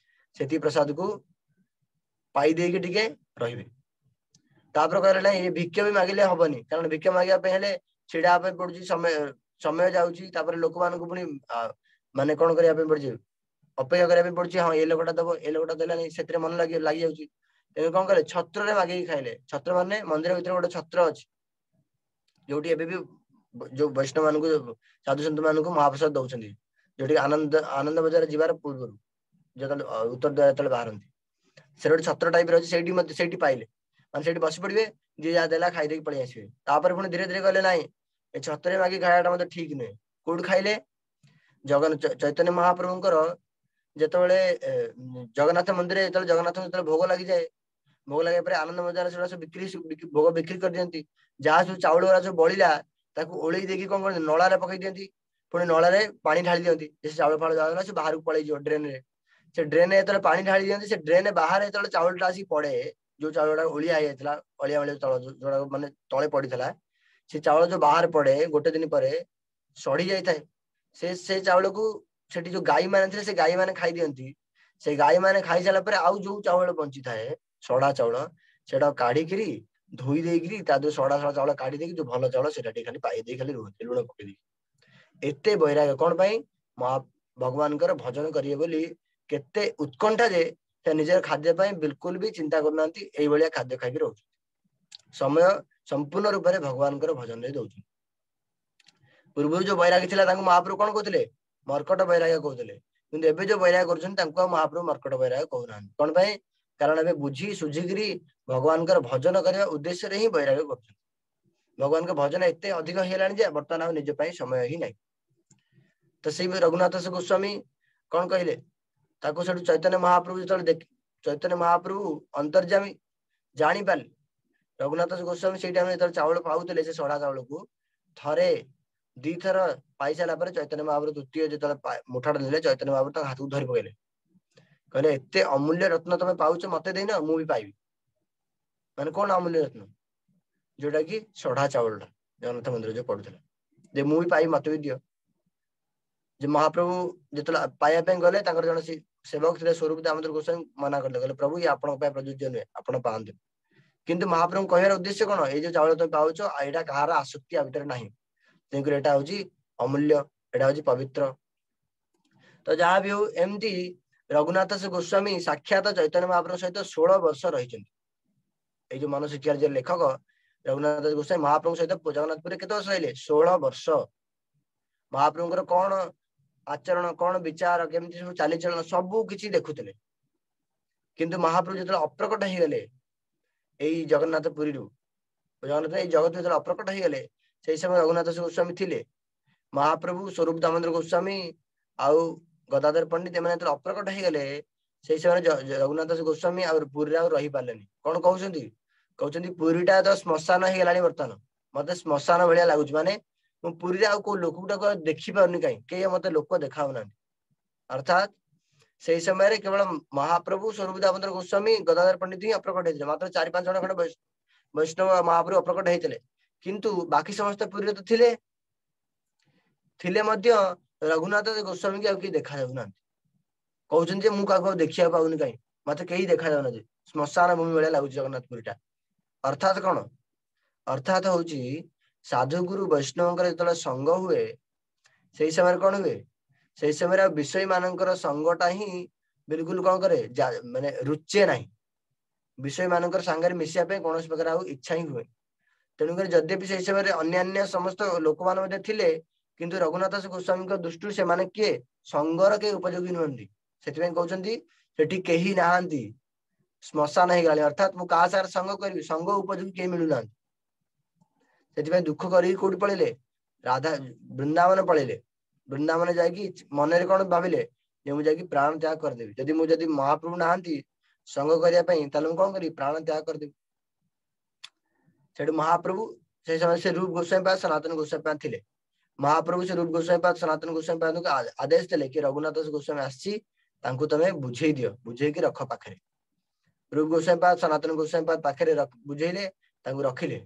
ସେତିକି ପ୍ରସାଦକୁ ପାଇ ଦେଇକି ଟିକେ ରହିବେ। ତାପରେ କହିଲେ ନାଇଁ, ଏ ଭିକ ବି ମାଗିଲେ ହବନି, କାରଣ ଭିକ ମାଗିବା ପାଇଁ ହେଲେ ଛିଡା ହେବା ପାଇଁ ପଡୁଛି, ସମୟ ଯାଉଛି, ତାପରେ ଲୋକମାନଙ୍କୁ ପୁଣି ମାନେ କଣ କରିବା ପାଇଁ ପଡୁଛି, ଅପେକ୍ଷା କରିବା ପାଇଁ ପଡୁଛି। ହଁ, ଏ ଲୋକଟା ଦବ, ଏ ଲୋକଟା ଦେଲାନି, ସେଥିରେ ମନ ଲାଗି ଯାଉଛି। ତେଣୁ କଣ କଲେ, ଛତ୍ରରେ ମାଗିକି ଖାଇଲେ। ଛତ୍ର ମାନେ ମନ୍ଦିର ଭିତରେ ଗୋଟେ ଛତ୍ର ଅଛି, ଯୋଉଠି ଏବେ ବି ଯୋଉ ବୈଷ୍ଣବ ମାନଙ୍କୁ, ସାଧୁ ସନ୍ଥ ମାନଙ୍କୁ ମହାପ୍ରସାଦ ଦଉଛନ୍ତି, ଯୋଉଠି ଆନନ୍ଦ ବଜାର ଯିବାର ପୂର୍ବରୁ ଯେତେବେଳେ ଉତ୍ତର ଦ୍ୱାର ଯେତେବେଳେ ବାହାରନ୍ତି, ସେଠି ଗୋଟେ ଛତ୍ର ଟାଇପ ର ଅଛି, ସେଇଠି ମଧ୍ୟ ସେଇଠି ପାଇଲେ, ମାନେ ସେଇଠି ବସି ପଡିବେ, ଯିଏ ଯାହା ଦେଲା ଖାଇ ଦେଇକି ପଳେଇ ଆସିବେ। ତାପରେ ପୁଣି ଧୀରେ ଧୀରେ କହିଲେ ନାଇଁ, ଏ ଛତ୍ରରେ ମାଗି ଖାଇବାଟା ମଧ୍ୟ ଠିକ ନୁହେଁ। କୋଉଠି ଖାଇଲେ? ଚୈତନ୍ୟ ମହାପ୍ରଭୁଙ୍କର ଯେତେବେଳେ ଜଗନ୍ନାଥ ମନ୍ଦିରରେ ଯେତେବେଳେ ଜଗନ୍ନାଥଙ୍କୁ ଯେତେବେଳେ ଭୋଗ ଲାଗିଯାଏ, ଭୋଗ ଲାଗିବା ପରେ ଆନନ୍ଦ ବଜାର ସେଗୁଡ଼ା ସବୁ ଭୋଗ ବିକ୍ରି କରିଦିଅନ୍ତି। ଯାହା ସବୁ ଚାଉଳ ଗୁଡା ସବୁ ବଳିଲା ତାକୁ ଓଳେଇ ଦେଇକି କଣ କରନ୍ତି, ନଳାରେ ପକେଇ ଦିଅନ୍ତି, ପୁଣି ନଳାରେ ପାଣି ଢାଳି ଦିଅନ୍ତି, ସେ ଚାଉଳ ଫାଉଳ ଯାହା ହେଲା ସେ ବାହାରକୁ ପଳେଇଯିବ ଡ୍ରେନରେ। ସେ ଡ୍ରେନରେ ଯେତେବେଳେ ପାଣି ଢାଳି ଦିଅନ୍ତି, ସେ ଡ୍ରେନରେ ବାହାରେ ଯେତେବେଳେ ଚାଉଳଟା ଆସିକି ପଡେ, ଯୋଉ ଚାଉଳ ଗୁଡା ଓଳିଆ ହେଇଯାଇଥିଲା, ଅଳିଆ ଅଳିଆ ଚାଉଳ ଯୋଉଟା ମାନେ ତଳେ ପଡିଥିଲା, ସେ ଚାଉଳ ଯୋଉ ବାହାରେ ପଡେ ଗୋଟେ ଦିନ ପରେ ସଢି ଯାଇଥାଏ। ସେ ଚାଉଳକୁ ସେଠି ଯୋଉ ଗାଈ ମାନେ ଥିଲେ ସେ ଗାଈ ମାନେ ଖାଇ ଦିଅନ୍ତି। ସେ ଗାଈ ମାନେ ଖାଇସାରିଲା ପରେ ଆଉ ଯୋଉ ଚାଉଳ ବଞ୍ଚିଥାଏ ସଡା ଚାଉଳ, ସେଟା କାଢିକିରି ଧୋଇ ଦେଇକିରି ତା ଦେହରୁ ସଡା ସଡା ଚାଉଳ କାଢି ଦେଇକି ଯୋଉ ଭଲ ଚାଉଳ ସେଟା ଟିକେ ଖାଲି ପାଇ ଦେଇ ଖାଲି ରୁହନ୍ତି ଲୁଣ ପକେଇ ଦେଇକି। ଏତେ ବୈରାଗ୍ୟ କଣ ପାଇଁ? ମହା ଭଗବାନଙ୍କର ଭଜନ କରିବେ ବୋଲି କେତେ ଉତ୍କଣ୍ଠା ଯେ ସେ ନିଜର ଖାଦ୍ୟ ପାଇଁ ବିଲକୁଲ ବି ଚିନ୍ତା କରୁନାହାନ୍ତି, ଏଇଭଳିଆ ଖାଦ୍ୟ ଖାଇକି ରହୁଛନ୍ତି। ସମୟ ସମ୍ପୂର୍ଣ୍ଣ ରୂପରେ ଭଗବାନଙ୍କର ଭଜନରେ ଦଉଛନ୍ତି। ପୂର୍ବରୁ ଯୋଉ ବୈରାଗୀ ଥିଲା ତାଙ୍କୁ ମହାପ୍ରଭୁ କଣ କହୁଥିଲେ? ମର୍କଟ ବୈରାଗ୍ୟ କହୁଥିଲେ। କିନ୍ତୁ ଏବେ ଯୋଉ ବୈରାଗ୍ୟ କରୁଛନ୍ତି ତାଙ୍କୁ ଆଉ ମହାପ୍ରଭୁ ମର୍କଟ ବୈରାଗ୍ୟ କହୁନାହାନ୍ତି। କଣ ପାଇଁ? କାରଣ ଏବେ ବୁଝି ସୁଝିକିରି ଭଗବାନଙ୍କର ଭଜନ କରିବା ଉଦ୍ଦେଶ୍ୟରେ ହିଁ ବୈରାଗ୍ୟ କରୁଛନ୍ତି। ଭଗବାନଙ୍କ ଭଜନ ଏତେ ଅଧିକ ହେଇଗଲାଣି ଯେ ବର୍ତ୍ତମାନ ଆଉ ନିଜ ପାଇଁ ସମୟ ହିଁ ନାହିଁ। ତ ସେଇ ରଘୁନାଥ ଦାସ ଗୋସ୍ୱାମୀ କଣ କହିଲେ? ତାକୁ ସେଠୁ ଚୈତନ୍ୟ ମହାପ୍ରଭୁ ଯେତେବେଳେ ଦେଖି, ଚୈତନ୍ୟ ମହାପ୍ରଭୁ ଅନ୍ତର୍ଯାମୀ ଜାଣିପାରିଲେ। ରଘୁନାଥ ଦାସ ଗୋସ୍ୱାମୀ ସେଇ ଟାଇମରେ ଯେତେବେଳେ ଚାଉଳ ପାଉଥିଲେ ସେ ସଢା ଚାଉଳକୁ ଥରେ ଦିଥର ପାଇସାରିଲା ପରେ ଚୈତନ୍ୟ ମହାପ୍ରଭୁ ତୃତୀୟ ଯେତେବେଳେ ମୁଠାଟା ନେଲେ, ଚୈତନ୍ୟ ମହାପ୍ରଭୁ ତାଙ୍କ ହାତକୁ ଧରି ପକେଇଲେ। କହିଲେ ଏତେ ଅମୂଲ୍ୟ ରତ୍ନ ତମେ ପାଉଛ, ମତେ ଦେଇନ, ମୁଁ ବି ପାଇବି। ମାନେ କଣ ଅମୂଲ୍ୟ ରତ୍ନ? ଯୋଉଟା କି ସଢା ଚାଉଳଟା ଜଗନ୍ନାଥ ମନ୍ଦିର ଯୋଉ ପଡୁଥିଲା, ଯେ ମୁଁ ବି ପାଇବି, ମତେ ବି ଦିଅ। ଯେ ମହାପ୍ରଭୁ ଯେତେବେଳେ ପାଇବା ପାଇଁ ଗଲେ, ତାଙ୍କର ଜଣେ ସେବକ ଥିଲେ ସ୍ୱରୂପ ଦାମୋଦର ଗୋସ୍ୱାମୀ, ମନା କଲେ, କହିଲେ ପ୍ରଭୁ ଇଏ ଆପଣଙ୍କ ପାଇଁ ପ୍ରଯୁଜ୍ୟ ନୁହେଁ, ଆପଣ ପାଆନ୍ତୁନି। କିନ୍ତୁ ମହାପ୍ରଭୁଙ୍କ କହିବାର ଉଦ୍ଦେଶ୍ୟ କଣ? ଏଇ ଯୋଉ ଚାଉଳ ତମେ ପାଉଛ ଏଇଟା କାହାର ଆସକ୍ତି ଆ ଭିତରେ ନାହିଁ, ତେଣୁକରି ଏଇଟା ହଉଛି ଅମୂଲ୍ୟ, ଏଇଟା ହଉଛି ପବିତ୍ର। ତ ଯାହା ବି ହଉ, ଏମିତି ରଘୁନାଥ ଦାସ ଗୋସ୍ୱାମୀ ସାକ୍ଷାତ ଚୈତନ୍ୟ ମହାପ୍ରଭୁଙ୍କ ସହିତ 16 ବର୍ଷ ରହିଛନ୍ତି। ଏଇ ଯୋଉ ମନୋଶିକ୍ଷାର ଯୋଉ ଲେଖକ ରଘୁନାଥ ଦାସ ଗୋସ୍ୱାମୀ ମହାପ୍ରଭୁଙ୍କ ସହିତ ଜଗନ୍ନାଥପୁରରେ କେତେ ବର୍ଷ ରହିଲେ? 16 ବର୍ଷ। ମହାପ୍ରଭୁଙ୍କର କଣ ଆଚରଣ, କଣ ବିଚାର, କେମିତି ସବୁ ଚାଲିଚଳନ ସବୁ କିଛି ଦେଖୁଥିଲେ। କିନ୍ତୁ ମହାପ୍ରଭୁ ଯେତେବେଳେ ଅପ୍ରକଟ ହେଇଗଲେ ଏଇ ଜଗନ୍ନାଥ ପୁରୀରୁ, ଜଗନ୍ନାଥ ଏଇ ଜଗତ ଯେତେବେଳେ ଅପ୍ରକଟ ହେଇଗଲେ, ସେଇ ସମୟ ରଘୁନାଥ ଦାସ ଗୋସ୍ୱାମୀ ଥିଲେ। ମହାପ୍ରଭୁ ସ୍ୱରୂପ ଦାମୋଦର ଗୋସ୍ୱାମୀ ଆଉ ଗଦାଧର ପଣ୍ଡିତ ଏମାନେ ଯେତେବେଳେ ଅପ୍ରକଟ ହେଇଗଲେ, ସେଇ ସମୟରେ ରଘୁନାଥ ଦାସ ଗୋସ୍ୱାମୀ ଆଉ ପୁରୀରେ ଆଉ ରହିପାରିଲେନି। କଣ କହୁଛନ୍ତି? କହୁଛନ୍ତି ପୁରୀଟା ତ ଶ୍ମଶାନ ହେଇଗଲାଣି ବର୍ତ୍ତମାନ, ମତେ ଶ୍ମଶାନ ଭଳିଆ ଲାଗୁଛି। ମାନେ ମୁଁ ପୁରୀରେ ଆଉ କୋଉ ଲୋକଟାକୁ ଆଉ ଦେଖିପାରୁନି, କାହିଁ କେହି ମତେ ଲୋକ ଦେଖାଉନାହାନ୍ତି। ଅର୍ଥାତ ସେଇ ସମୟରେ କେବଳ ମହାପ୍ରଭୁ ସ୍ୱରୂପ ଦାମୋଦର ଗୋସ୍ୱାମୀ ଗଦାଧର ପଣ୍ଡିତ ହିଁ ଅପ୍ରକଟ ହେଇଥିଲେ, ମାତ୍ର 4-5 ଜଣ ଖଣ୍ଡେ ବୈଷ୍ଣବ ମହାପ୍ରଭୁ ଅପ୍ରକଟ ହେଇଥିଲେ। କିନ୍ତୁ ବାକି ସମସ୍ତେ ପୁରୀରେ ତ ଥିଲେ, ଥିଲେ ମଧ୍ୟ ରଘୁନାଥ ଗୋସ୍ୱାମୀକି ଆଉ କେହି ଦେଖା ଯାଉନାହାନ୍ତି। କହୁଛନ୍ତି ଯେ ମୁଁ କାହାକୁ ଆଉ ଦେଖିବାକୁ ପାଉନି, କାହିଁ ମତେ କେହି ଦେଖା ଯାଉନାହାନ୍ତି, ଶ୍ମଶାନ ଭୂମି ଭଳିଆ ଲାଗୁଛି ଜଗନ୍ନାଥ ପୁରୀଟା। ଅର୍ଥାତ କଣ? ଅର୍ଥାତ ହଉଛି ସାଧୁଗୁରୁ ବୈଷ୍ଣବଙ୍କର ଯେତେବେଳେ ସଙ୍ଗ ହୁଏ ସେଇ ସମୟରେ କଣ ହୁଏ? ସେଇ ସମୟରେ ଆଉ ବିଷୟୀ ମାନଙ୍କର ସଙ୍ଗଟା ହିଁ ବିଲକୁଲ କଣ କରେ, ମାନେ ରୁଚେ ନାହିଁ। ବିଷୟୀ ମାନଙ୍କର ସାଙ୍ଗରେ ମିଶିବା ପାଇଁ କୌଣସି ପ୍ରକାର ଆଉ ଇଚ୍ଛା ହିଁ ହୁଏ। ତେଣୁକରି ଯଦ୍ୟପି ସେଇ ସମୟରେ ଅନ୍ୟାନ୍ୟ ସମସ୍ତ ଲୋକମାନେ ମଧ୍ୟ ଥିଲେ, କିନ୍ତୁ ରଘୁନାଥ ଦାସ ଗୋସ୍ୱାମୀଙ୍କ ଦୃଷ୍ଟିରୁ ସେମାନେ କିଏ? ସଙ୍ଗର କେହି ଉପଯୋଗୀ ନୁହନ୍ତି। ସେଥିପାଇଁ କହୁଛନ୍ତି ସେଠି କେହି ନାହାନ୍ତି, ଶ୍ମଶାନ ହେଇଗଲାଣି। ଅର୍ଥାତ ମୁଁ କାହା ସାଙ୍ଗରେ ସଙ୍ଗ କରିବି, ସଙ୍ଗ ଉପଯୋଗୀ କେହି ମିଳୁନାହାନ୍ତି। ସେଥିପାଇଁ ଦୁଃଖ କରିକି କୋଉଠି ପଳେଇଲେ? ରାଧା ବୃନ୍ଦାବନ ପଳେଇଲେ। ବୃନ୍ଦାବନ ଯାଇକି ମନରେ କଣ ଭାବିଲେ ଯେ ମୁଁ ଯାଇକି ପ୍ରାଣ ତ୍ୟାଗ କରିଦେବି, ଯଦି ମୁଁ ଯଦି ମହାପ୍ରଭୁ ନାହାନ୍ତି ସଙ୍ଗ କରିବା ପାଇଁ, ତାହେଲେ ମୁଁ କଣ କରିବି? ପ୍ରାଣ ତ୍ୟାଗ କରିଦେବି। ସେଠୁ ମହାପ୍ରଭୁ ସେଇ ସମୟରେ ସେ ରୂପ ଗୋସ୍ୱାମୀ ପାଦ ସନାତନ ଗୋସ୍ୱାମୀ ପାଦ ଥିଲେ। ମହାପ୍ରଭୁ ସେ ରୂପ ଗୋସ୍ୱାମୀ ପାଦ ସନାତନ ଗୋସ୍ୱାମୀ ପାଦଙ୍କୁ ଆଦେଶ ଦେଲେ କି ରଘୁନାଥ ଦାସ ଗୋସ୍ୱାମୀ ଆସିଛି, ତାଙ୍କୁ ତମେ ବୁଝେଇ ଦିଅ, ବୁଝେଇକି ରଖ ପାଖରେ। ରୂପ ଗୋସ୍ୱାମୀ ପାଦ ସନାତନ ଗୋସ୍ୱାମୀ ପାଦ ପାଖରେ ବୁଝେଇଲେ, ତାଙ୍କୁ ରଖିଲେ।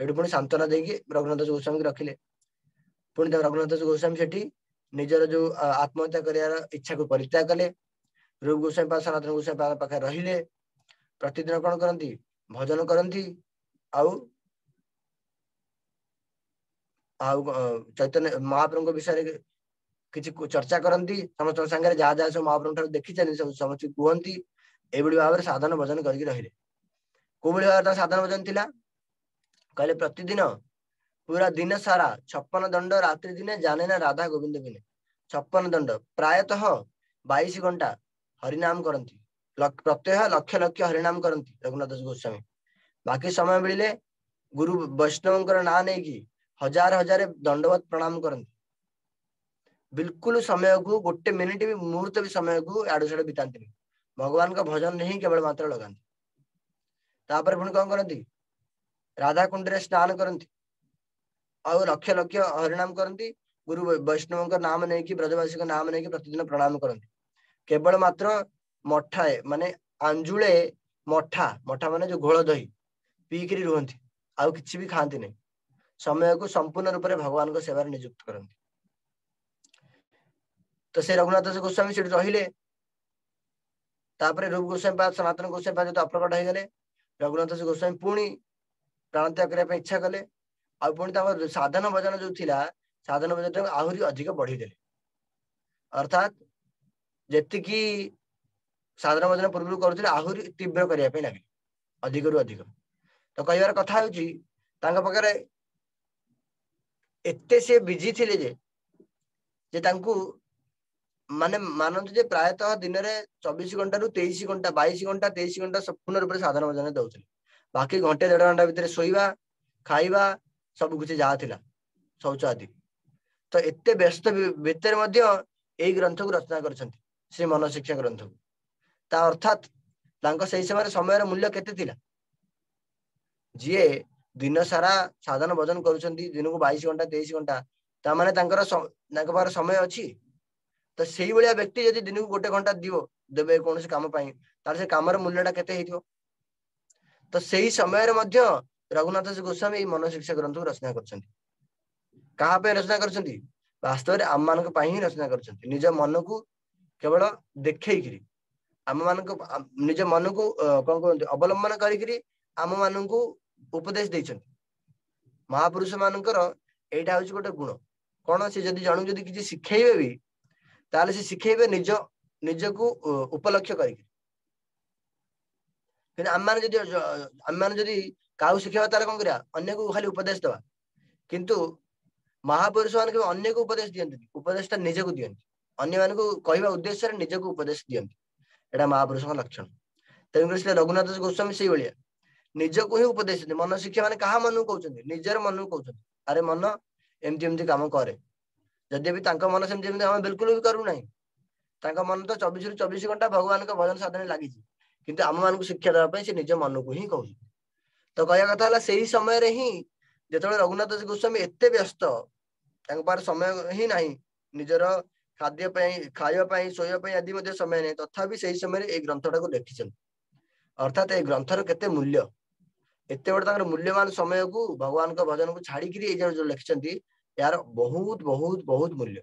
ସେଠୁ ପୁଣି ସାନ୍ତ୍ୱନା ଦେଇକି ରଘୁନାଥ ଦାସ ଗୋସ୍ୱାମୀଙ୍କୁ ରଖିଲେ। ପୁଣି ରଘୁନାଥ ଦାସ ଗୋସ୍ୱାମୀ ସେଠି ନିଜର ଯୋଉ ଆତ୍ମହତ୍ୟା କରିବାର ଇଚ୍ଛାକୁ ପରିତ୍ୟାଗ କଲେ। ରୂପ ଗୋସ୍ୱାମୀ ପାଦ ସନାତନ ଗୋସ୍ୱାମୀ ପାଦ ପାଖରେ ରହିଲେ। ପ୍ରତିଦିନ କଣ କରନ୍ତି? ଭଜନ କରନ୍ତି। ଆଉ ଆଉ ଚୈତନ୍ୟ ମହାପ୍ରଭୁଙ୍କ ବିଷୟରେ କିଛି ଚର୍ଚ୍ଚା କରନ୍ତି ସମସ୍ତଙ୍କ ସାଙ୍ଗରେ, ଯାହା ଯାହା ସବୁ ମହାପ୍ରଭୁଙ୍କ ଠାରୁ ଦେଖିଛନ୍ତି ସବୁ ସମସ୍ତେ କୁହନ୍ତି। ଏଇଭଳି ଭାବରେ ସାଧନ ଭଜନ କରିକି ରହିଲେ। କୋଉଭଳି ଭାବରେ ତାଙ୍କ ସାଧନ ଭଜନ ଥିଲା? କହିଲେ ପ୍ରତିଦିନ ପୁରା ଦିନ ସାରା 56 ଦଣ୍ଡ ରାତ୍ରି ଦିନେ ଜାନେ ନା ରାଧା ଗୋବିନ୍ଦ ବିନେ। 56 ଦଣ୍ଡ ପ୍ରାୟତଃ 22 ଘଣ୍ଟା ହରିନାମ କରନ୍ତି। ପ୍ରତ୍ୟହ ଲକ୍ଷ ଲକ୍ଷ ହରିନାମ କରନ୍ତି ରଘୁନାଥ ଦାସ ଗୋସ୍ୱାମୀ। ବାକି ସମୟ ମିଳିଲେ ଗୁରୁ ବୈଷ୍ଣବଙ୍କର ନାଁ ନେଇକି ହଜାର ହଜାର ଦଣ୍ଡବତ ପ୍ରଣାମ କରନ୍ତି। ବିଲକୁଲ ସମୟକୁ ଗୋଟେ ମିନିଟ ବି ମୁହୂର୍ତ୍ତ ବି ସମୟକୁ ଆଡୁ ସାଡୁ ବିତାନ୍ତିନି, ଭଗବାନଙ୍କ ଭଜନରେ ହିଁ କେବଳ ମାତ୍ର ଲଗାନ୍ତି। ତାପରେ ପୁଣି କଣ କରନ୍ତି? ରାଧା କୁଣ୍ଡରେ ସ୍ନାନ କରନ୍ତି ଆଉ ଲକ୍ଷ ଲକ୍ଷ ହରିନାମ କରନ୍ତି। ଗୁରୁ ବୈଷ୍ଣବଙ୍କ ନାମ ନେଇକି ବ୍ରଜବାସୀଙ୍କ ନାମ ନେଇକି ପ୍ରତିଦିନ ପ୍ରଣାମ କରନ୍ତି। କେବଳ ମାତ୍ର ମଠାଏ ମାନେ ଆଞ୍ଜୁଳେ ମଠା, ମଠା ମାନେ ଯୋଉ ଘୋଳ ଦହି ପିଇକିରି ରୁହନ୍ତି, ଆଉ କିଛି ବି ଖାଆନ୍ତି ନାହିଁ। ସମୟକୁ ସମ୍ପୂର୍ଣ୍ଣ ରୂପରେ ଭଗବାନଙ୍କ ସେବାରେ ନିଯୁକ୍ତ କରନ୍ତି। ତ ସେ ରଘୁନାଥ ଦାସ ଗୋସ୍ୱାମୀ ସେଠି ରହିଲେ। ତାପରେ ରୂପ ଗୋସ୍ୱାମୀ ପାଦ, ସନାତନ ଗୋସ୍ୱାମୀ ପାଦ ଯେତେ ଅପ୍ରକଟ ହେଇଗଲେ, ରଘୁନାଥ ଦାସ ଗୋସ୍ୱାମୀ ପୁଣି ପ୍ରାଣତ୍ୟାଗ କରିବା ପାଇଁ ଇଚ୍ଛା କଲେ। ଆଉ ପୁଣି ତାଙ୍କର ସାଧନ ଭଜନ ଯୋଉ ଥିଲା, ସାଧନ ଭଜନ ଆହୁରି ଅଧିକ ବଢେଇଦେଲେ। ଅର୍ଥାତ୍ ଯେତିକି ସାଧନ ଭଜନ ପୂର୍ବରୁ କରୁଥିଲେ ଆହୁରି ତୀବ୍ର କରିବା ପାଇଁ ଲାଗିଲେ, ଅଧିକରୁ ଅଧିକ। ତ କହିବାର କଥା ହଉଛି ତାଙ୍କ ପାଖରେ ଏତେ ସେ ବିଜି ଥିଲେ ଯେ ତାଙ୍କୁ ମାନେ ମାନନ୍ତୁ ଯେ ପ୍ରାୟତଃ ଦିନରେ 24 ଘଣ୍ଟାରୁ 23 ଘଣ୍ଟା, 22 ଘଣ୍ଟା, 23 ଘଣ୍ଟା ସମ୍ପୂର୍ଣ୍ଣ ରୂପରେ ସାଧନ ଭଜନ ଦଉଥିଲେ। ବାକି ଘଣ୍ଟେ ଦେଢ ଘଣ୍ଟା ଭିତରେ ଶୋଇବା, ଖାଇବା, ସବୁ କିଛି ଯାହା ଥିଲା ଶୌଚ ଆଦି। ତ ଏତେ ବ୍ୟସ୍ତ ଭିତରେ ମଧ୍ୟ ଏଇ ଗ୍ରନ୍ଥକୁ ରଚନା କରିଛନ୍ତି, ଶ୍ରୀ ମନ ଶିକ୍ଷା ଗ୍ରନ୍ଥକୁ। ତା ଅର୍ଥାତ୍ ତାଙ୍କ ସେଇ ସମୟରେ ସମୟର ମୂଲ୍ୟ କେତେ ଥିଲା? ଯିଏ ଦିନ ସାରା ସାଧନ ଭଜନ କରୁଛନ୍ତି ଦିନକୁ 22 ଘଣ୍ଟା 23 ଘଣ୍ଟା, ତା ମାନେ ତାଙ୍କର ତାଙ୍କ ପାଖରେ ସମୟ ଅଛି। ତ ସେଇଭଳିଆ ବ୍ୟକ୍ତି ଯଦି ଦିନକୁ 1 ଘଣ୍ଟା ଦେବେ କୌଣସି କାମ ପାଇଁ, ତାହେଲେ ସେ କାମର ମୂଲ୍ୟଟା କେତେ ହେଇଥିବ? ତ ସେଇ ସମୟରେ ମଧ୍ୟ ରଘୁନାଥ ଦାସ ଗୋସ୍ୱାମୀ ଏଇ ମନ ଶିକ୍ଷା ଗ୍ରନ୍ଥକୁ ରଚନା କରିଛନ୍ତି। କାହା ପାଇଁ ରଚନା କରିଛନ୍ତି? ବାସ୍ତବରେ ଆମମାନଙ୍କ ପାଇଁ ହିଁ ରଚନା କରିଛନ୍ତି। ନିଜ ମନକୁ କେବଳ ଦେଖେଇକିରି, ଆମମାନଙ୍କ ନିଜ ମନକୁ କଣ କୁହନ୍ତି ଅବଲମ୍ବନ କରିକିରି ଆମ ମାନଙ୍କୁ ଉପଦେଶ ଦେଇଛନ୍ତି। ମହାପୁରୁଷ ମାନଙ୍କର ଏଇଟା ହଉଛି ଗୋଟେ ଗୁଣ। କଣ? ସେ ଯଦି ଜଣକୁ ଯଦି କିଛି ଶିଖେଇବେ ବି, ତାହେଲେ ସେ ଶିଖେଇବେ ନିଜକୁ ଉପଲକ୍ଷ୍ୟ କରିକି। କିନ୍ତୁ ଆମମାନେ ଯଦି କାହାକୁ ଶିଖେଇବା ତାହେଲେ କଣ କରିବା? ଅନ୍ୟକୁ ଖାଲି ଉପଦେଶ ଦବା। କିନ୍ତୁ ମହାପୁରୁଷ ମାନେ କେବେ ଅନ୍ୟକୁ ଉପଦେଶ ଦିଅନ୍ତିନି, ଉପଦେଶଟା ନିଜକୁ ଦିଅନ୍ତି। ଅନ୍ୟମାନଙ୍କୁ କହିବା ଉଦ୍ଦେଶ୍ୟରେ ନିଜକୁ ଉପଦେଶ ଦିଅନ୍ତି। ଏଇଟା ମହାପୁରୁଷଙ୍କ ଲକ୍ଷଣ। ତେଣୁକରି ସେ ରଘୁନାଥ ଦାସ ଗୋସ୍ୱାମୀ ସେଇଭଳିଆ ନିଜକୁ ହିଁ ଉପଦେଶ ଦିଅନ୍ତି। ମନ ଶିକ୍ଷା ମାନେ କାହା ମନକୁ କହୁଛନ୍ତି? ନିଜର ମନକୁ କହୁଛନ୍ତି। ଆରେ ମନ ଏମିତି ଏମିତି କାମ କରେ। ଯଦି ବି ତାଙ୍କ ମନ ସେମିତି ଏମିତି ଆମେ ବିଲକୁଲ ବି କରୁନାହିଁ, ତାଙ୍କ ମନ ତ 24ରୁ 24 ଘଣ୍ଟା ଭଗବାନଙ୍କ ଭଜନ ସାଧନରେ ଲାଗିଛି, କିନ୍ତୁ ଆମ ମାନଙ୍କୁ ଶିକ୍ଷା ଦେବା ପାଇଁ ସେ ନିଜ ମନକୁ ହିଁ କହୁଛନ୍ତି। ତ କହିବା କଥା ହେଲା ସେଇ ସମୟରେ ହିଁ ଯେତେବେଳେ ରଘୁନାଥ ଦାସ ଗୋସ୍ୱାମୀ ଏତେ ବ୍ୟସ୍ତ, ତାଙ୍କ ପାଖରେ ସମୟ ହିଁ ନାହିଁ ନିଜର ଖାଦ୍ୟ ପାଇଁ, ଖାଇବା ପାଇଁ, ଶୋଇବା ପାଇଁ ଆଦି ମଧ୍ୟ ସମୟ ନାହିଁ, ତଥାପି ସେଇ ସମୟରେ ଏଇ ଗ୍ରନ୍ଥଟାକୁ ଲେଖିଛନ୍ତି। ଅର୍ଥାତ୍ ଏଇ ଗ୍ରନ୍ଥର କେତେ ମୂଲ୍ୟ, ଏତେ ବଡ ତାଙ୍କର ମୂଲ୍ୟବାନ ସମୟକୁ ଭଗବାନଙ୍କ ଭଜନକୁ ଛାଡିକିରି ଏଇ ଯୋଉ ଲେଖିଛନ୍ତି, ଏହାର ବହୁତ ବହୁତ ବହୁତ ମୂଲ୍ୟ।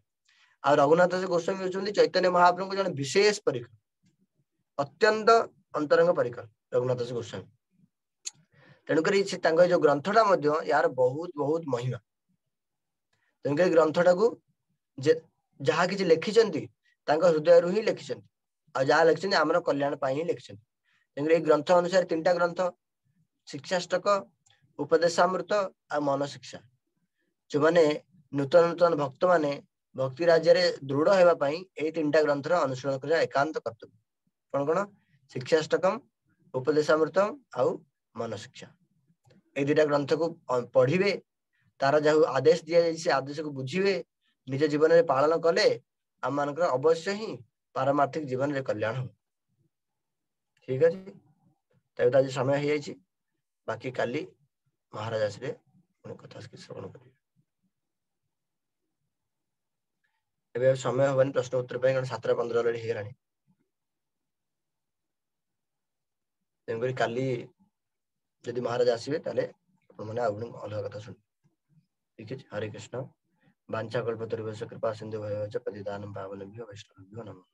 ଆଉ ରଘୁନାଥ ଦାସ ଗୋସ୍ୱାମୀ ହଉଛନ୍ତି ଚୈତନ୍ୟ ମହାପ୍ରଭୁଙ୍କ ଜଣେ ବିଶେଷ ପରିକର, ଅତ୍ୟନ୍ତ ଅନ୍ତରଙ୍ଗ ପରିକର ରଘୁନାଥ ଦାସ ଗୋସ୍ୱାମୀ। ତେଣୁକରି ସେ ତାଙ୍କ ଏଇ ଯୋଉ ଗ୍ରନ୍ଥଟା ମଧ୍ୟ ଏହାର ବହୁତ ବହୁତ ମହିମା। ତେଣୁକରି ଗ୍ରନ୍ଥଟାକୁ ଯାହା କିଛି ଲେଖିଛନ୍ତି ତାଙ୍କ ହୃଦୟରୁ ହିଁ ଲେଖିଛନ୍ତି, ଆଉ ଯାହା ଲେଖିଛନ୍ତି ଆମର କଲ୍ୟାଣ ପାଇଁ ହିଁ ଲେଖିଛନ୍ତି। ତେଣୁକରି ଏଇ ଗ୍ରନ୍ଥ ଅନୁସାରେ 3ଟା ଗ୍ରନ୍ଥ, ଶିକ୍ଷାଷ୍ଟକ, ଉପଦେଶାମୃତ ଆଉ ମନ ଶିକ୍ଷା। ଯୋଉମାନେ ନୂତନ ନୂତନ ଭକ୍ତମାନେ ଭକ୍ତି ରାଜ୍ୟରେ ଦୃଢ ହେବା ପାଇଁ ଏଇ 3ଟା ଗ୍ରନ୍ଥର ଅନୁସରଣ କରିବା ଏକାନ୍ତ କର୍ତ୍ତବ୍ୟ। କଣ କଣ? ଶିକ୍ଷାଷ୍ଟକମ, ଉପଦେଶାମୃତମ ଆଉ ମନ ଶିକ୍ଷା। ଏଇ 2ଟା ଗ୍ରନ୍ଥକୁ ପଢିବେ, ତାର ଯାହା ଆଦେଶ ଦିଆଯାଇଛି ସେ ଆଦେଶକୁ ବୁଝିବେ, ନିଜ ଜୀବନରେ ପାଳନ କଲେ ଆମମାନଙ୍କର ଅବଶ୍ୟ ହିଁ ପାରମାର୍ଥିକ ଜୀବନରେ କଲ୍ୟାଣ ହବ। ଠିକ ଅଛି, ତେବେ ତ ଆଜି ସମୟ ହେଇଯାଇଛି, ବାକି କାଲି ମହାରାଜ ଆସିଲେ ପୁଣି କଥା ଶ୍ରବଣ କରିବେ। ଏବେ ଆଉ ସମୟ ହବନି ପ୍ରଶ୍ନ ଉତ୍ତର ପାଇଁ, କାରଣ 7:15 ଅଲରେଡି ହେଇଗଲାଣି। ତେଣୁକରି କାଲି ଯଦି ମହାରାଜ ଆସିବେ ତାହେଲେ ଆପଣମାନେ ଆଉ ପୁଣି ଅଲଗା କଥା ଶୁଣିବେ। ଠିକ ଅଛି, ହରେ କୃଷ୍ଣ। ବାଞ୍ଛା କଳ୍ପତରୁଭ୍ୟଶ୍ଚ କୃପା ସିନ୍ଧୁ ଭୟଃ ପତିତାନାଂ ପାବନେଭ୍ୟୋ ବୈଷ୍ଣବେଭ୍ୟୋ ନମଃ।